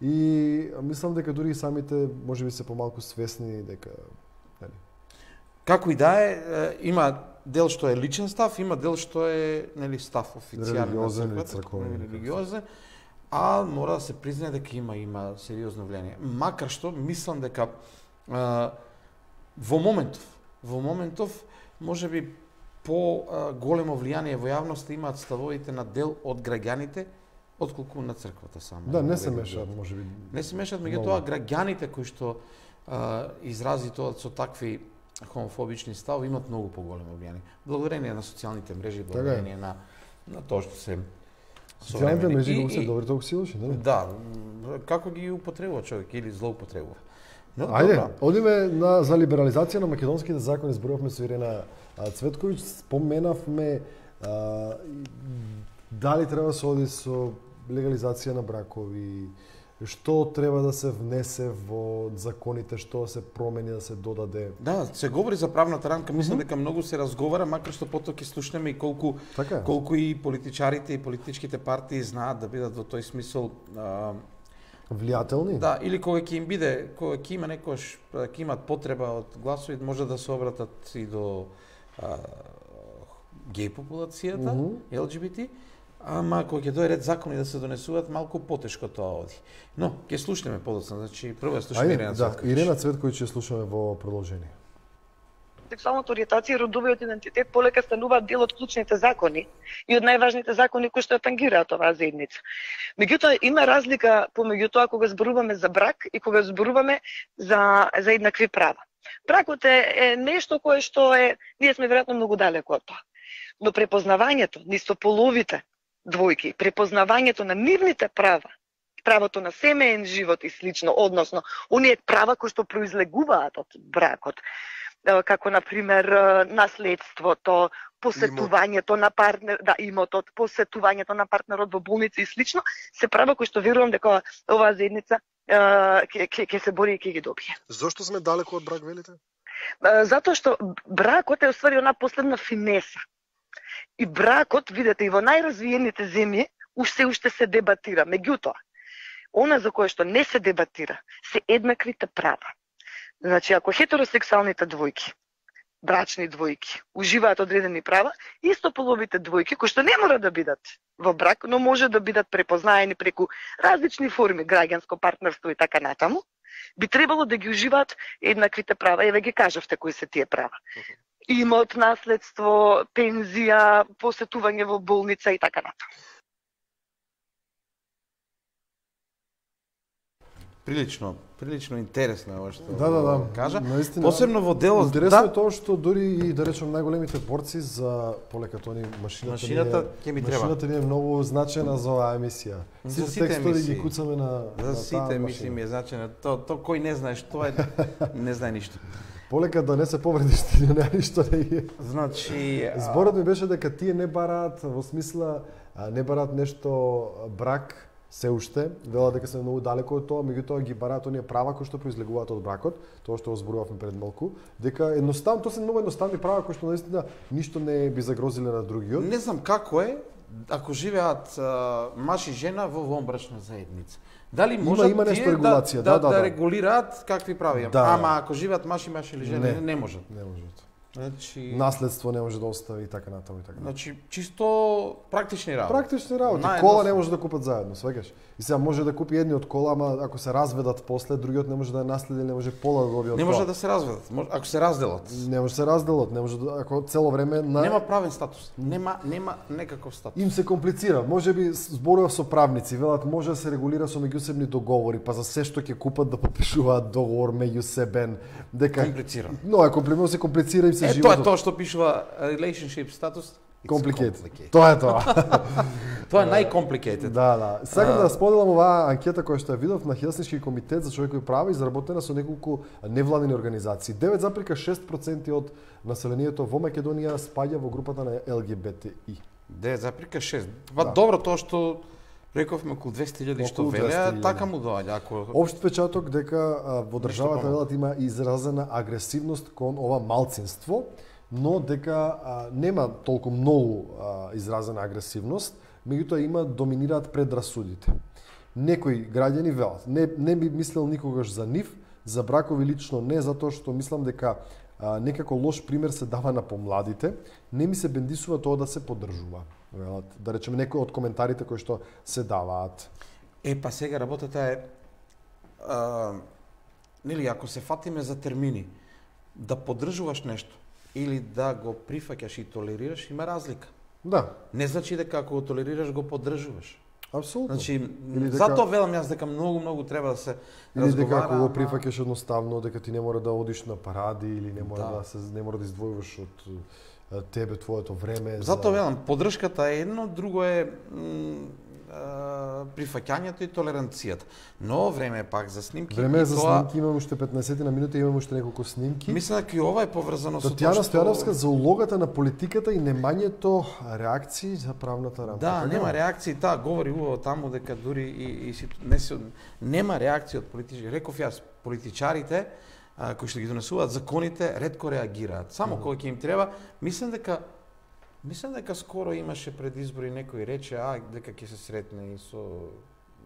И мислам дека дури и самите можеби се помалку свесни дека нели. Како и да е, има дел што е личен став, има дел што е нели став официјален на црквата, религиозен, а мора да се признае дека има има сериозно влијание. Макар што мислам дека а, во моментов Во моментов, може би, по а, големо влијание во јавноста имаат ставовите на дел од граѓаните, отколку на црквата само. Да, не се мешаат, може би. Не се мешаат, меѓутоа граѓаните кои што а, изрази тоа со такви хомофобични ставови имаат многу поголемо влијание. Благодарение на социјалните мрежи, благодарение на на тоа што се социјалните мрежи го се добри толку силоши, нели? Да, како ги употребува човек или злоупотребува. No, Ајде, одиме на за либерализација на македонските закони, зборувавме со Ирена Цветковиќ, споменавме а, дали треба да се оди со легализација на бракови, што треба да се внесе во законите, што да се промени, да се додаде. Да, се говори за правната рамка, мислам дека многу се разговара, макар што потоа ќе слушнеме и колку така. колку и политичарите и политичките партии знаат да бидат во тој смисол а, влијателни? Да, или кога ќе им биде, кога ќе има некош, ќе имат потреба од гласови, може да се обратат и до а, геј популацијата, mm -hmm. Ел Џи Би Ти, Ама кога ќе дојде ред закони да се донесуваат, малку потешко тоа оди. Но ќе слушнеме подоцна, значи прво слушаме Ирена Цветковиќ. Да, Ирена Цветковиќ ќе слушаме во продолжение. Сексуалната ориентација и родовиот идентитет полека стануваат дел од клучните закони и од најважните закони кои што ја тангираат оваа заедница. Меѓутоа има разлика помеѓу тоа кога зборуваме за брак и кога зборуваме за за еднакви права. Бракот е, е нешто кое што е, ние сме веројатно многу далеко од тоа. Но препознавањето на истополовите двојки, препознавањето на нивните права, правото на семеен живот и слично, односно оние права кои што произлегуваат од бракот, како на пример наследството, посетувањето на партнер, да, имотот, посетувањето на партнерот во болница и слично, се права кои што верувам дека оваа заедница ќе ќе се бори и ќе ги добие. Зошто сме далеко од брак, велите? Затоа што бракот е уствари она последна финеса. И бракот, видите, и во најразвиените земји уште уште се дебатира. Меѓутоа, она за кое што не се дебатира се еднаквите права. Значи, ако хетеросексуалните двојки, брачни двојки, уживаат одредени права, истополовите двојки, кои што не мора да бидат во брак, но може да бидат препознаени преку различни форми, граѓанско партнерство и така натаму, би требало да ги уживаат еднаквите права. Еве ги кажавте кои се тие права. Имот, наследство, пензија, посетување во болница и така натаму. Прилично, прилично интересно е ова што да, да, да. кажа. Наистина, посебно во делот. Интересно да, е тоа што дури и да речем најголемите борци за полека тони машината, машината ќе ми треба. Машината ни е многу значена за оваа емисија. За сите текстови ги куцаме на за на сите емисии ми е значена. То то кој не знаеш, тоа е не знае ништо. Полека да не се повредиш, ти не ништо да е. Значи, зборот ми беше дека тие не бараат во смисла не бараат нешто брак се уште, велат дека се многу далеко од тоа, меѓутоа ги бараат оние права кои што произлегуваат од бракот, тоа што го зборувавме пред малку, дека едноставно тоа се многу едноставни права кои што наистина ништо не би загрозиле на другиот. Не знам како е ако живеат а, маж и жена во вонбрачна заедница. Дали можат има, има тие регулација, да, да, да, да, да, да регулираат какви прави? Да. Ама ако живеат маж и маж или жена, не, не можат. Не можат. Значи, наследство не може да остави и така натаму и така. Значи чисто практични работи. Практични работи. Наједноставно. Кола не може да купат заедно, сваќаш. И сега може да купи едниот кола, ама ако се разведат после, другиот не може да ја наследи, не може пола да добие од Не тоа. може да се разведат. Може- Ако се разделат. Не може да се разделат, не може да, ако цело време на Нема правен статус. Нема нема некаков статус. им се комплицира. Може би зборував со правници, велат може да се регулира со меѓусебни договори, па за се што ќе купат да подпишуваат договор меѓусебен, дека Комплицирано. Но е комплицирано, се комплицира им се Е, тоа животот. е тоа што пишува relationship status. It's Complicated. complicated. Тоа е тоа. Тоа е најcomplicated. Да, да. Сакам да споделам оваа анкета која што ја видов на Хелсиншки комитет за човекови права, изработена со неколку невладини организации. девет запирка шест проценти од населението во Македонија спаѓа во групата на Л Г Б Т И. девет запирка шест. Па Да. добро тоа што рековме околу двесте илјади што Околу двесте велеа, илјади. така му доаѓа. Ако Општ впечаток дека а, во државата помалку. велат има изразена агресивност кон ова малцинство, но дека а, нема толку многу а, изразена агресивност, меѓутоа има доминираат предрасудите. Некои граѓани велат, не, не би мислел никогаш за нив, за бракови лично не, затоа што мислам дека а, некако лош пример се дава на помладите, не ми се бендисува тоа да се поддржува. Велат, да речеме некои од коментарите кои што се даваат. Е, па сега работата е а, нели ако се фатиме за термини, да поддржуваш нешто или да го прифаќаш и толерираш, има разлика. Да, Не значи дека ако го толерираш го поддржуваш. апсолутно. Значи, Или дека- затоа велам јас дека многу многу треба да се Или дека разговара. ако го ама- прифаќаш едноставно, дека ти не мора да одиш на паради или не мора да, Да. се не мора да издвојуваш од а, тебе твоето време. Затоа велам, поддршката е едно, друго е м, а, прифаќањето и толеранцијата. Но време е пак за снимки. Време е и за тоа- снимки, имаме уште петнаесет на минути, имаме уште неколку снимки. Мислам дека и ова е поврзано со Татјана тоа Стојановска за улогата на политиката и немањето реакции за правната рамка. Да, Така нема е? реакции, таа говори убаво таму дека дури и, и ситу... не се нема реакција од политичари. Реков јас, политичарите а, кои што ги донесуваат законите ретко реагираат. Само кога ќе им треба, мислам дека Мислам дека скоро имаше пред избори некој рече а дека ќе се сретне и со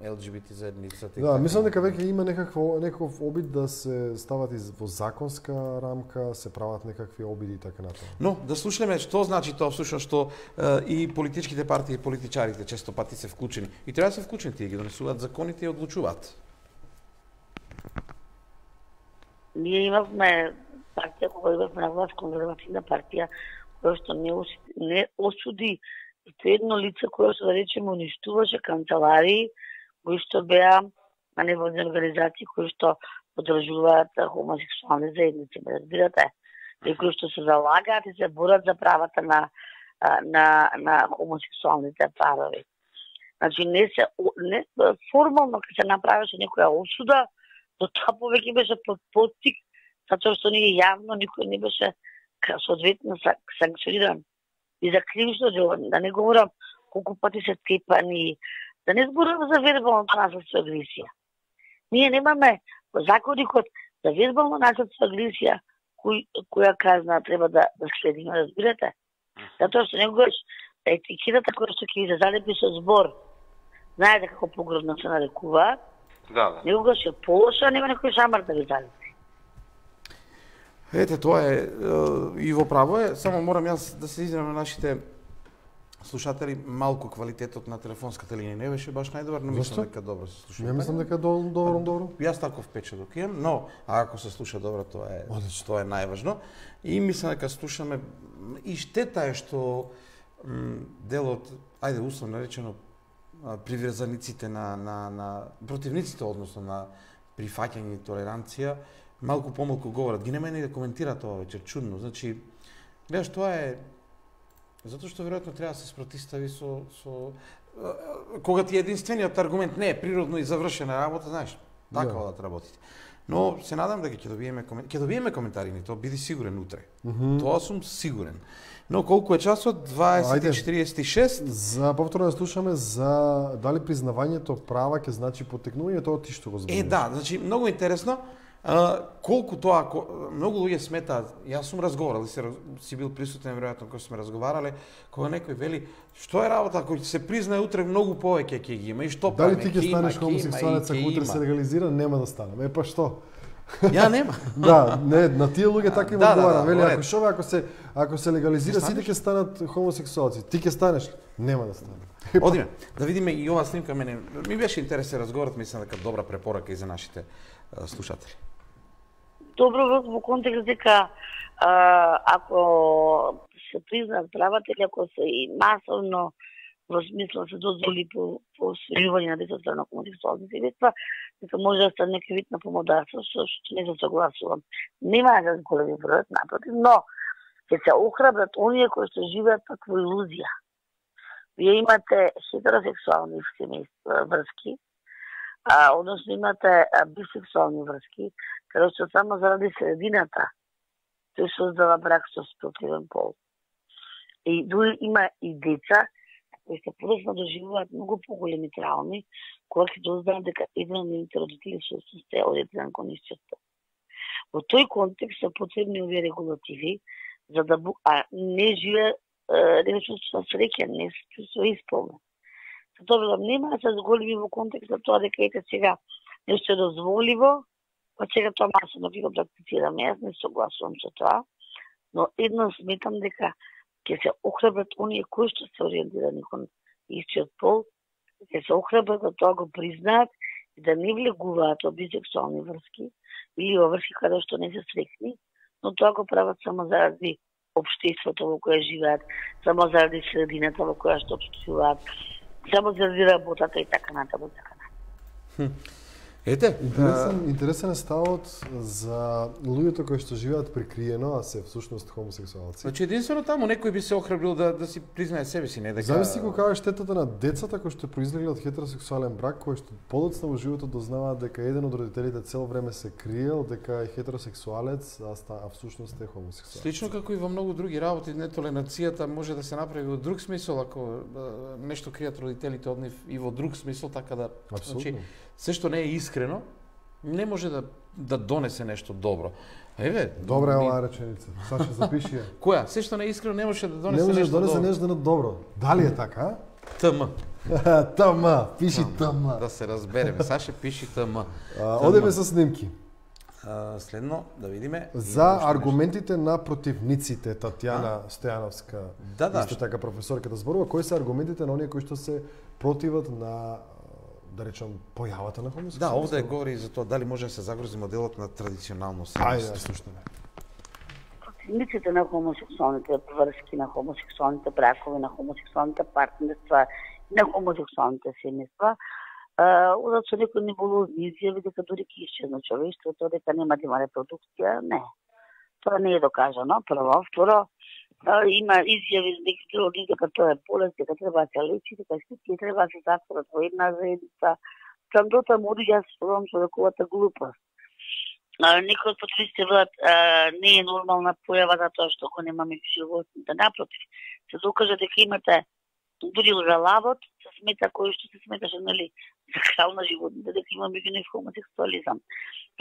ел џи би ти заедницата. Да, мислам дека веќе има некакво некаков обид да се стават из во законска рамка, се прават некакви обиди и така натаму. Но да слушнеме што значи тоа всушност што е, и политичките партии и политичарите често пати се вклучени. И треба да се вклучени, тие ги донесуваат законите и одлучуваат. Ние имавме партија кога имавме на власт, конзервативна партија, која што не, не осуди ито едно лице кој што да речеме уништуваше канцеларии кои што беа на невладини организации кои што поддржуваат хомосексуални заедници, разбирате? И кои што се залагаат и се борат за правата на на на хомосексуалните парови. Значи не се не формално кога се направеше некоја осуда, до тоа повеќе беше под поттик, затоа што ние јавно никој не беше соодветно санкциониран. И за кривично дело, да не говорам колку пати се тепани, да не зборувам за вербалното насилство и агресија. Ние немаме во законикот за вербално насилство и агресија кој, која казна треба да, да следиме, разбирате? Затоа што некогаш етикетата која што ќе ви се залепи со збор, знаете како погрозно се нарекуваат, да, да. Некогаш е полоша, нема некој шамар да ви залепи. Ете, тоа е, и во право е, само морам јас да се извинам на нашите слушатели, малку квалитетот на телефонската линија не беше баш најдобар, но мислам дека добро се слуша. Не мислам дека добро, добро, добро. Јас таков впечаток имам, но ако се слуша добро, тоа е Одлично. Тоа е најважно. И мислам дека слушаме и штета е што дел од, ајде условно речено, приврзаниците на на на противниците односно на прифаќање и толеранција малку помалку говорат. Ги нема и да коментираат тоа вечер, чудно. Значи, гледаш, тоа е затоа што веројатно треба да се спротистави со со кога ти е единствениот аргумент не е природно и завршена работа, знаеш, така да, да работите. Но се надам дека ќе добиеме ќе добиеме коментари, ни тоа биди сигурен утре. Mm -hmm. Тоа сум сигурен. Но колку е часот? дваесет и четиридесет и шест. За повторно да слушаме за дали признавањето права ќе значи потекнувањето од ти што го зборуваш. Е да, значи многу интересно. А, колку тоа, многу луѓе сметаат, јас сум разговарал и си, си бил присутен веројатно кога сме разговарале, кога некој вели што е работа ако ќе се признае утре многу повеќе ќе ги има и што дали ти ќе станеш хомосексуалец ако утре се легализира, нема да стане. Е па што? Ја нема. Да, не, на тие луѓе така им одговара. Да, да, вели ако шо ако се ако се легализира сите ќе станат хомосексуалци. Ти ќе станеш? Нема да стане. Одиме, да видиме и ова снимка мене ми беше интересен разговорот, мислам дека добра препорака и за нашите а, слушатели. Добро во контекст дека ако се признаат правата или ако се и масовно во смисла се дозволи по освојување на децата на хомосексуални средства, дека може да стане некој вид на помодарство, со што не се согласувам. Нема да големи број, напротив, но ќе се охрабрат оние кои што живеат таква илузија. Вие имате хетеросексуални семејства, врски, а, односно имате а, бисексуални врски, каде што само заради средината тој создава брак со спротивен пол. И дури има и деца кои се подоцна доживуваат многу поголеми трауми, кога ќе дознаат дека еден од нивните родители се состои од еден кон исчество. Во тој контекст се потребни овие регулативи, за да бу... а не живе не се чувствува среќен, не се чувствува исполнен. Затоа велам, нема да се зголеми во контекст на тоа дека ете сега нешто е дозволиво, па сега тоа масовно ќе го практицираме. Јас не согласувам со тоа, но едно сметам дека ќе се охрабрат оние кои што се ориентирани кон истиот пол, ќе се охрабрат да тоа го признаат и да не влегуваат во бисексуални врски или во врски каде што не се срекни, но тоа го прават само заради општеството во кое живеат, само заради средината во која што општествуваат, само заради работата и така натаму, така натаму. Ете, интересен, а... интересен е ставот за луѓето кои што живеат прикриено, а се всушност хомосексуалци. Значи единствено таму некој би се охрабрил да да си признае себе си, не дека Замисли кога е штетата на децата кои што произлегли од хетеросексуален брак, кои што подоцна во животот дознаваат дека еден од родителите цело време се криел дека е хетеросексуалец, а, ста, а всушност е хомосексуалец. Слично како и во многу други работи, нетолерацијата може да се направи во друг смисол ако нешто кријат родителите од нив и во друг смисол, така да Апсолутно. Значи, се што не е искрено, не може да да донесе нешто добро. Еве, добра е оваа реченица. Саша, запиши ја. Која? Се што не е искрено не може да донесе нешто добро. Не може нешто да донесе нешто добро. Дали е така? ТМ. ТМ, пиши ТМ. Да се разбереме, Саше пиши ТМ. Одеме со снимки. А, следно, да видиме. За аргументите на противниците, Татјана Стојановска, да, да, исто така професорка да зборува, кои се аргументите на оние кои што се противат на, да речам, појавата на хомосексуалност? Да, овде говори за тоа дали може да се загрози моделот на традиционално семејство. Ајде, да слушаме. Противниците на хомосексуалните врски, на хомосексуалните бракови, на хомосексуалните партнерства, на хомосексуалните семејства, одат со некои небулозни изјави дека дури ќе исчезне човештвото, дека нема да има репродукција. Не. Тоа не е докажано, прво. Второ, има изјави дека тоа е болест, дека треба да се лечи, дека сите треба да се затворат во една заедница. Кам дотаму оди јас спорам со неговата глупост. Некои од противниците велат не е нормална појава затоа што го нема меѓу животните. Напротив, се докажа дека имате дури лжалавот се смета кој што се сметаше, нели, за крал на животните, дека има меѓу нив хомосексуализам.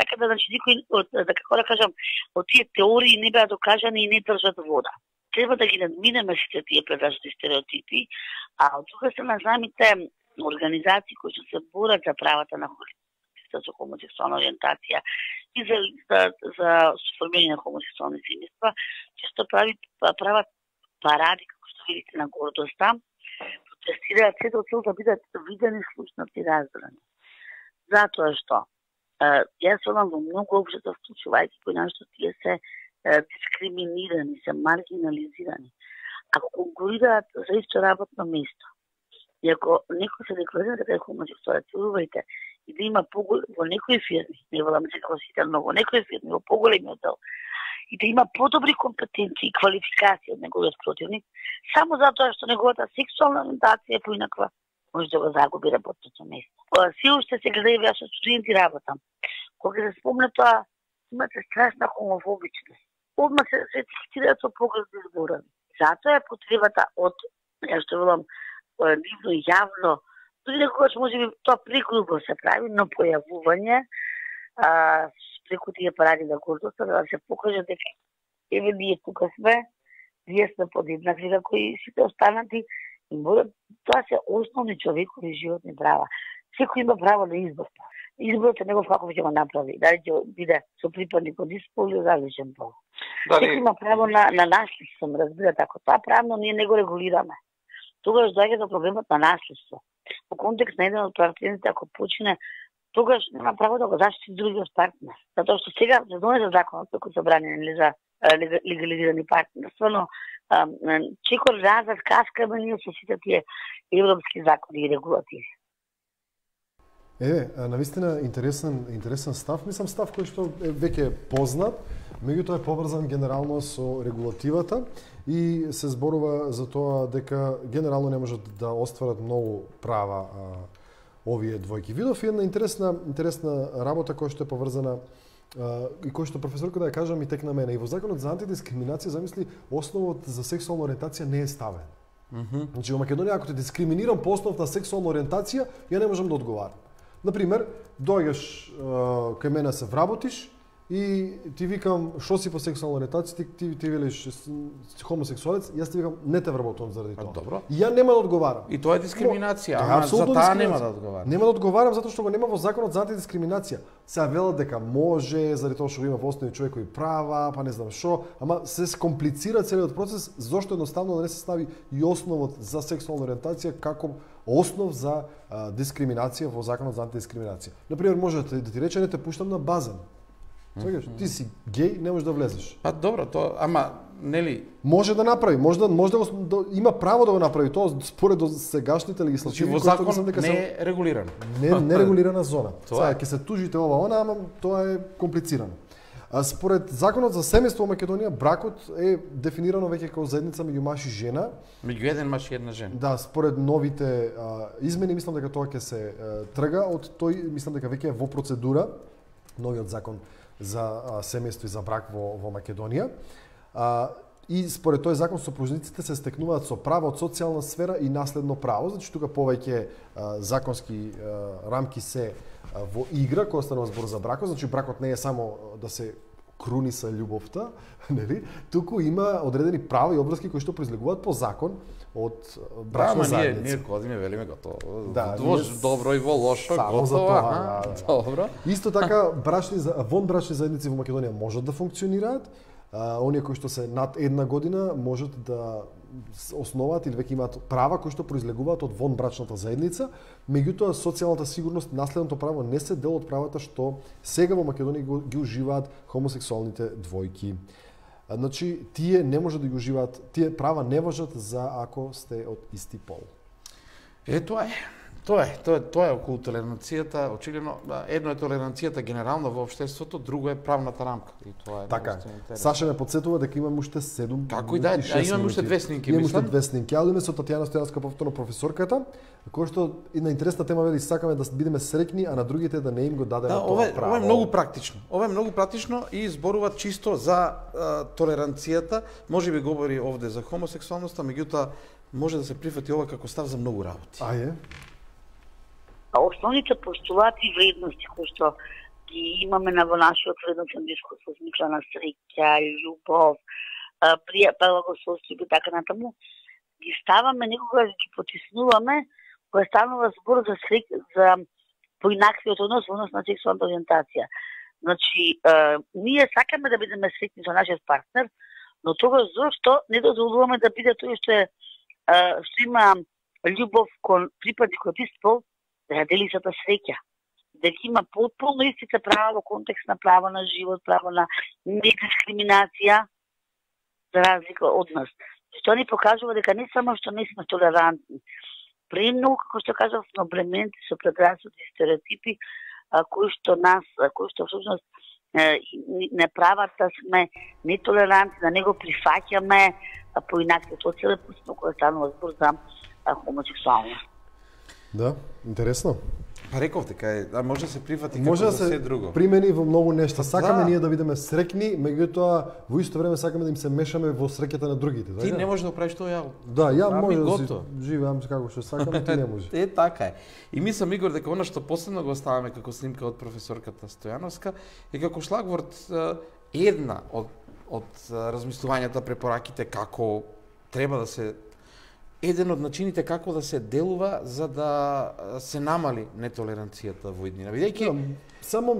Така да, значи, никој, од, да како да кажам, од тие теории не беа докажани и не држат вода. Треба да ги надминеме сите тие предажни стереотипи, а од друга страна самите организации кои што се борат за правата на хората со хомосексуална ориентација и за, за, за сформирање на хомосексуални семејства, често прави, прават паради, како што видите на гордоста, протестираат се до цел да бидат видени, слушнати, разбрани. Затоа што јас одам во многу општества, вклучувајќи кои нашто тие се дискриминирани, се маргинализирани. Ако конкурираат за исто работно место, и ако некој се декларира дека е хомосексуалец, верувајте, и да има поголем во некои фирми, не велам дека во сите, но во некои фирми, во поголемиот дел, и да има подобри компетенции и квалификации од неговиот противник, само затоа што неговата сексуална ориентација е поинаква, може да го загуби работното место. Се уште се гледа и јас со студенти работам. Кога се спомне тоа, имате страшна хомофобичност. Одма се се цитираат со погрешни зборови. Затоа е потребата од, ја што велам, нивно јавно, дори некогаш може би тоа прегрубо се прави, но појавување а, преку тие паради на гордоста, да се покаже дека еве ние тука сме, ние сме подеднакви како и сите останати, и може, тоа се основни човекови животни права. Секој има право на избор. Изборот е негов како ќе го направи, дали ќе биде со припадник од испол или различен пол. Дали... Секој има право на, на наследство, разбирате, ако тоа правно ние не го регулираме. Тогаш доаѓа до проблемот на наследство. Во контекст на еден од партнерите, ако почине, тогаш нема право да го заштити другиот партнер. Затоа што сега се донесе законот како забранени за легализирани партнерства, но чекор разад каскаме ние со сите тие европски закони и регулативи. Е, навистина интересен интересен став, мислам став кој што е веќе познат, меѓутоа е поврзан генерално со регулативата и се зборува за тоа дека генерално не можат да остварат многу права а, овие двојки. Видов една интересна интересна работа која што е поврзана а, и која што професорка да ја кажам и тек на мене. И во законот за антидискриминација замисли основот за сексуална ориентација не е ставен. Mm -hmm. Значи во Македонија ако те дискриминирам по основ на сексуална ориентација, ја не можам да одговарам. Например, доаѓаш кај мене се вработиш и ти викам што си по сексуална ориентација, ти, ти, ти велиш хомосексуалец, јас ти викам не те вработувам заради тоа. Добро. И ја нема да одговарам. И тоа е дискриминација, ама за таа нема да одговарам. Нема да одговарам затоа што го нема во законот за антидискриминација. Се велат дека може, заради тоа што го има во основни човекови права, па не знам што, ама се скомплицира целиот процес, зошто едноставно да не се стави и основот за сексуална ориентација како основ за а, дискриминација во законот за антидискриминација. Например, може да, да ти рече не те пуштам на базен. Свегаш, mm -hmm. ти си геј, не можеш да влезеш. Па добро, тоа, ама нели може да направи, може да може да, го, да има право да го направи тоа според сегашните легислативи во закон дека не е регулирано. Не не регулирана зона. Сега ќе се тужите ова она, ама тоа е комплицирано. А според законот за семејство во Македонија, бракот е дефинирано веќе како заедница меѓу маж и жена. Меѓу еден маж и една жена. Да, според новите а, измени, мислам дека тоа ќе се а, трга од тој, мислам дека веќе е во процедура новиот закон за а, семејство и за брак во, во Македонија. А, и според тој закон сопружниците се стекнуваат со право од социјална сфера и наследно право, значи тука повеќе а, законски а, рамки се а, во игра кога станува збор за бракот, значи бракот не е само да се круниса љубовта, нели? Туку има одредени права и обврски кои што произлегуваат по закон од брачна заедница. Ние, ние кодиме велиме готово. Да, во добро и во лошо, само готово. за тоа, да, да, да. Добро. Исто така, брачни, вонбрачни заедници во Македонија можат да функционираат. А, оние кои што се над една година можат да основаат или веќе имаат права кои што произлегуваат од вонбрачната заедница, меѓутоа социјалната сигурност, наследното право не се дел од правата што сега во Македонија ги уживаат хомосексуалните двојки. Значи, тие не може да ги уживаат, тие права не важат за ако сте од исти пол. Е, тоа е. Тоа е, тоа е, тоа е околу толеранцијата, очигледно едно е толеранцијата генерално во општеството, друго е правната рамка. И тоа е така. Саша ме подсетува дека имам уште седум. Како и да, а имаме уште две снимки, имам мислам. уште две снимки. Ја одиме со Татјана Стојановска, повторно професорката, која што и на интересна тема вели сакаме да бидеме среќни, а на другите да не им го дадеме да, тоа ова, право. Ова е многу практично. Ова е многу практично и зборува чисто за а, толеранцијата. Може би говори овде за хомосексуалноста, меѓутоа може да се прифати ова како став за многу работи. А е? Основните постулати и вредности кои што ги имаме на во нашиот вредносен дискурс во смисла на среќа, љубов, благосостојство и така натаму, ги ставаме некогаш ги потиснуваме кога станува збор за среќа, за поинаквиот однос во однос на сексуалната ориентација. Значи, е, ние сакаме да бидеме среќни со нашиот партнер, но тогаш зошто не дозволуваме да биде тој што е што има љубов кон припадник од ист пол, да ја дели сата среќа, да ги има потполно истите права во контекст на право на живот, право на недискриминација, за разлика од нас. Што ни покажува дека не само што не сме толерантни, премногу, како што кажав, сме облементи со предрасуди и стереотипи, а, кои што нас, а, кои што всушност не прават да сме нетолерантни, да не го прифаќаме поинаквиот оцелепост, кога станува збор за хомосексуалност. Да, интересно. Па реков дека е, да може да се прифати може како да за се се друго. примени во многу нешта. Сакаме да. ние да бидеме среќни, меѓутоа во исто време сакаме да им се мешаме во среќата на другите. Ти така? не можеш да правиш тоа ја. Да, ја Ами може да гото. си живеам како што сакам, ти не може. Е, така е. И мислам, Игор, дека она што последно го оставаме како снимка од професорката Стојановска е како шлагворд една од од размислувањата, препораките како треба да се еден од начините како да се делува за да се намали нетолеранцијата во иднина. Бидејќи да, само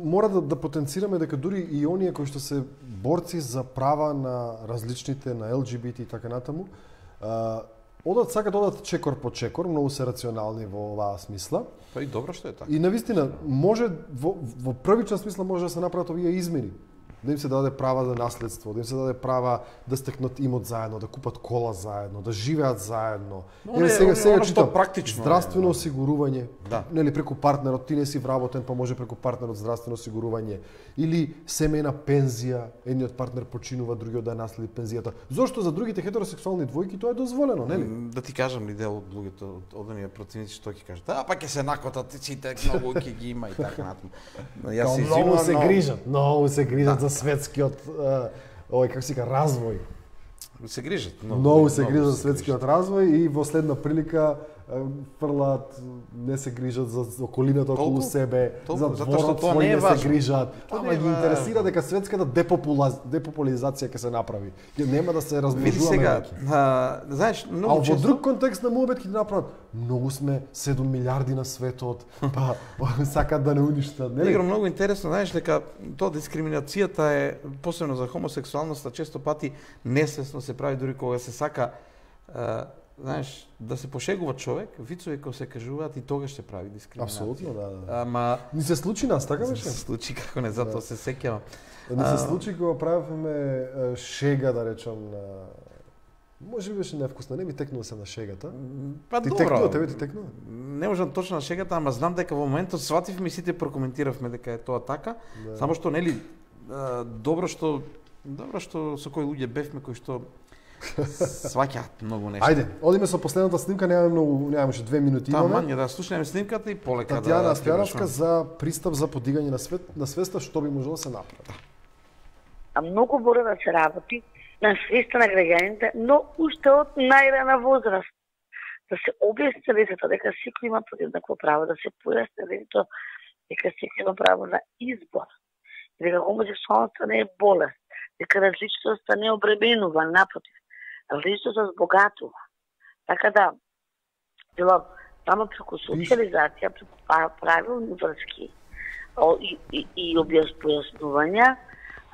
мора да, да потенцираме дека дури и оние кои што се борци за права на различните, на Ел Џи Би Ти и така натаму, а, одат сакат одат чекор по чекор, многу се рационални во оваа смисла. Па и добро што е така. И навистина може во, во првична смисла може да се направат овие измени. Да им се даде права за наследство, да им се даде права да стекнат имот заедно, да купат кола заедно, да живеат заедно. Еве сега сега читам практично здравствено осигурување, да. Нели преку партнерот, ти не си вработен, па може преку партнерот здравствено осигурување или семејна пензија, едниот партнер починува, другиот да наследи пензијата. Зошто за другите хетеросексуални двојки тоа е дозволено, нели? Да ти кажам ли дел од луѓето од одонија противници што ќе кажат, а па ќе се накотат сите многу ќе ги има и така натаму. Јас се многу се грижат, многу се грижат за светскиот овој како се вика развој. Се грижат, многу. Многу се грижат за светскиот развој и во следна прилика фрлат, не се грижат за околината околу толку, себе, толку, за дворот свој не, не се грижат. Ама ги интересира дека светската депопулизација ќе се направи. Ќе нема да се размножуваме. Сега, а, знаеш, многу а често... во друг контекст на муабет ќе направат. Многу сме седум милиарди на светот, па сакат да не уништат, нели? Игро, многу интересно, знаеш дека тоа дискриминацијата е посебно за хомосексуалноста често пати несвесно се прави дури кога се сака а, знаеш, да се пошегува човек, вицови кои се кажуваат и тогаш се прави дискриминација. Апсолутно, да, да. Ама ни се случи нас, така беше? Се случи како не, затоа да. Се сеќавам. Ни се случи кога правевме шега, да речам, на може би беше невкусно, не ми текнува се на шегата. Па ти добро. Текнува, тебе ти текнува? Не можам точно на шегата, ама знам дека во моментот свативме и сите прокоментиравме дека е тоа така. Да. Само што нели добро што добро што со кои луѓе бевме кои што сваќаат многу нешта. Ајде, одиме со последната снимка, немаме многу, немаме уште две минути имаме. Таман, да слушнеме снимката и полека Татјана да Стојановска за пристап за подигање на свет на свеста, што би можело да се направи. А многу мора да се работи на свеста на граѓаните, но уште од најрана возраст. Да се објасни децата дека секој има подеднакво право, да се појасни децата дека секој има право на избор. дека хомосексуалноста не е болест, дека различноста не обременува, напротив, различноста збогатува. Така да, делам само преку социализација, преку правилни врски и, и, и објаснувања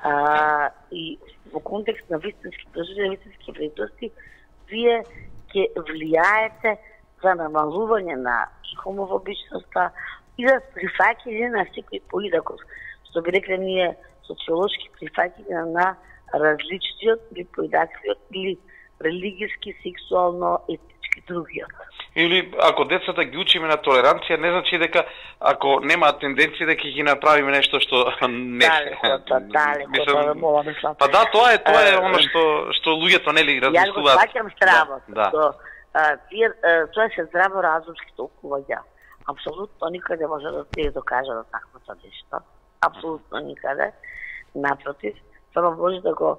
а, и во контекст на вистински преживења, вистински вредности, вие ќе влијаете за намалување на хомофобичноста и за прифаќање на секој поидаков, што би рекле ние социолошки прифаќање на различниот или поидаквиот или религиски, сексуално, етнички другиот. Или ако децата ги учиме на толеранција, не значи дека ако немаат тенденции дека ќе ги направиме нешто што не далеко, далеко, далеко, мислам. Па да, тоа е тоа е она што што луѓето нели размислуваат. Јас го сваќам здраво. Да. Тоа тие тоа се здраво разумски толкувања. Апсолутно никаде може да се докаже да таквото нешто. Апсолутно никаде. Напротив, само може да го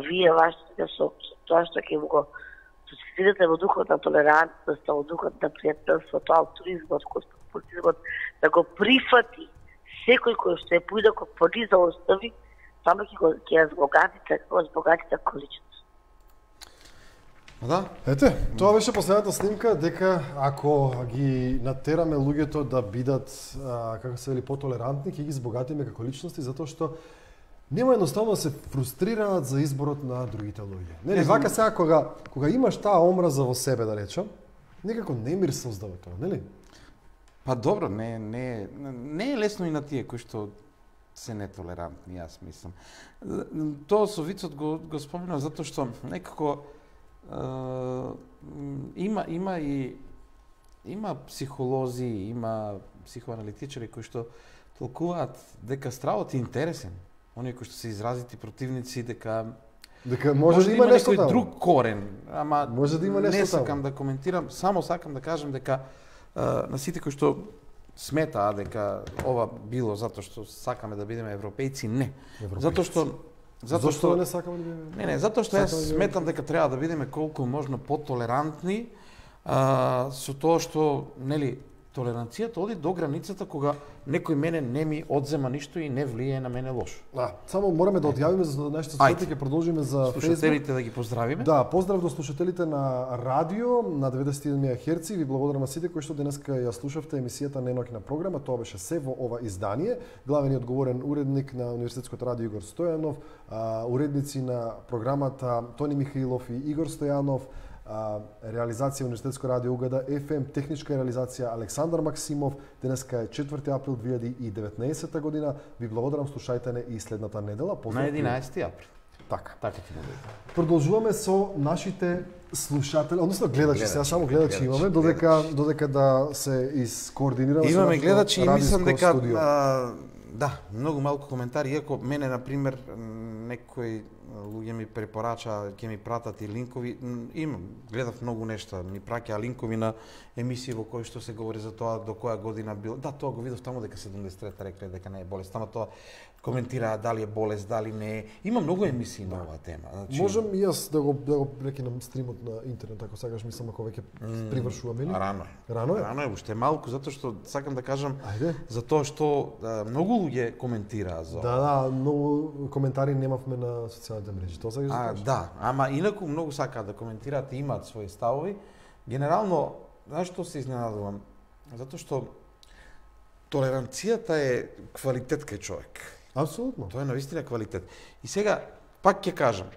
вие вашите со тоа што ќе го состидите во духот на толерантност, во духот на пријателството, алтруизмот, космополитизмот, да го прифати секој кој што е поидако пониза остави, само ќе го ќе ја збогатите, го збогатите количност. Да. Ете, тоа беше последната снимка, дека ако ги натераме луѓето да бидат, а, како се вели, потолерантни, ќе ги збогатиме како личности, затоа што нема едноставно да се фрустрираат за изборот на другите луѓе. Нели, вака сега кога кога имаш таа омраза во себе, да речам, некако немир создава тоа, нели? Па добро, не не не е лесно и на тие кои што се нетолерантни, јас мислам. Тоа со вицот го го спомнав затоа што некако е, има има и има психолози, има психоаналитичари кои што толкуваат дека стравот е интересен. Оние кои што се изразити противници дека дека може, може да има нешто некој друг корен, ама може да има нешто не сакам таму. да коментирам, само сакам да кажам дека а, на сите кои што сметаа дека ова било затоа што сакаме да бидеме европејци, не. Европејци. Затоа што затоа Зошто што не сакаме да бидеме? Не, не, затоа што јас да сметам дека треба да бидеме колку можно потолерантни а, со тоа што нели толеранцијата оди до границата кога некој мене не ми одзема ништо и не влијае на мене лошо. Да, само мораме да одјавиме за нашите слушатели, ќе продолжиме за слушателите да ги поздравиме. Да, поздрав до слушателите на радио на деветдесет и еден мегахерци. Ви благодарам на сите кои што денеска ја слушавте емисијата Неноќна програма. Тоа беше се во ова издание. Главен и одговорен уредник на Универзитетското радио Игор Стојанов, уредници на програмата Тони Михаилов и Игор Стојанов, реализација Универзитетско радио Угада еф ем, техничка реализација Александар Максимов. Денеска е четврти април две илјади и деветнаесетта година. Ви благодарам, слушајте не и следната недела. На единаесети април. Така. Така ќе биде. Продолжуваме со нашите слушатели, односно гледачи, гледачи сега само гледачи, гледачи имаме, додека додека да се искоординираме со имаме гледачи и мислам дека студио. А, да, многу малку коментари, иако мене на пример некои луѓе ми препорача, ќе ми пратат и линкови, имам, гледав многу нешта, ми праќаа линкови на емисии во кои што се говори за тоа до која година бил. Да, тоа го видов таму дека седумдесет и трета рекле дека не е болест, ама тоа коментира дали е болест, дали не е. Има многу емисии на оваа тема. Значи, можам и јас да го да го прекинам стримот на интернет, ако сакаш, мислам ако веќе привршуваме или? Рано е. Рано е. Рано е, уште малку, затоа што сакам да кажам Ајде. за тоа што а, многу луѓе коментираа за. Да, да, многу коментари немавме на социјалните мрежи. Тоа сакаш да А, кажеш? да, ама инаку многу сакаат да коментираат и имаат своји ставови. Генерално, знаеш што се изненадувам? Затоа што толеранцијата е квалитет кај човек. Апсолутно. Тоа е навистина квалитет. И сега, пак ќе кажам,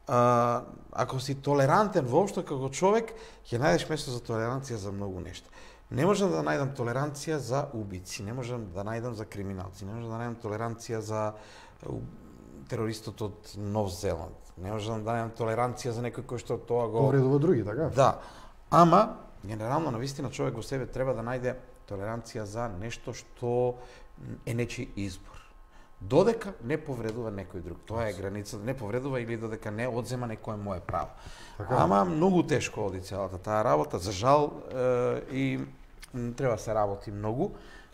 а, ако си толерантен воопшто како човек, ќе најдеш место за толеранција за многу нешта. Не можам да најдам толеранција за убици, не можам да најдам за криминалци, не можам да најдам толеранција за терористот од Нов Зеланд. Не можам да најдам толеранција за некој кој што тоа го Повредува други, така? Да. Ама генерално навистина човек во себе треба да најде толеранција за нешто што е нечи избор. Додека не повредува некој друг. Тоа е граница, не повредува или додека не одзема некое мое право. Така. Ама многу тешко оди целата таа работа, за жал, е, и треба да се работи многу.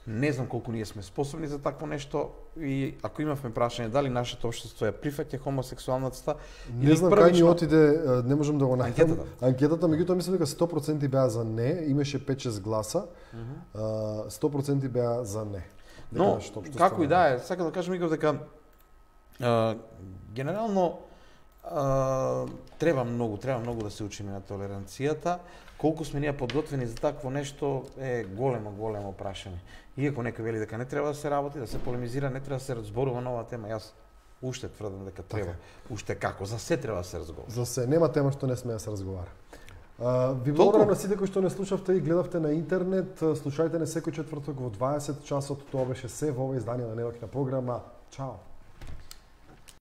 Не знам колку ние сме способни за такво нешто и ако имавме прашање дали нашето општество ја прифаќа хомосексуалноста, Не знам кај ни отиде, не можам да го најдам. Анкетата. Анкетата, меѓутоа мислам дека сто проценти беа за не, имаше пет шест гласа, mm -hmm. сто проценти беа за не. Но како и да е, сакам да кажам Игор дека а, генерално а, треба многу, треба многу да се учиме на толеранцијата. Колку сме ние подготвени за такво нешто е големо, големо прашање. Иако некој вели дека не треба да се работи, да се полемизира, не треба да се разборува на оваа тема, јас уште тврдам дека треба. Уште како, за се треба да се разговара. За се, нема тема што не сме да се разговара. Uh, ви благодарам на сите кои што не слушавте и гледавте на интернет. Слушајте не секој четврток во дваесет часот. Тоа беше се во ова издание на неделкина програма. Чао!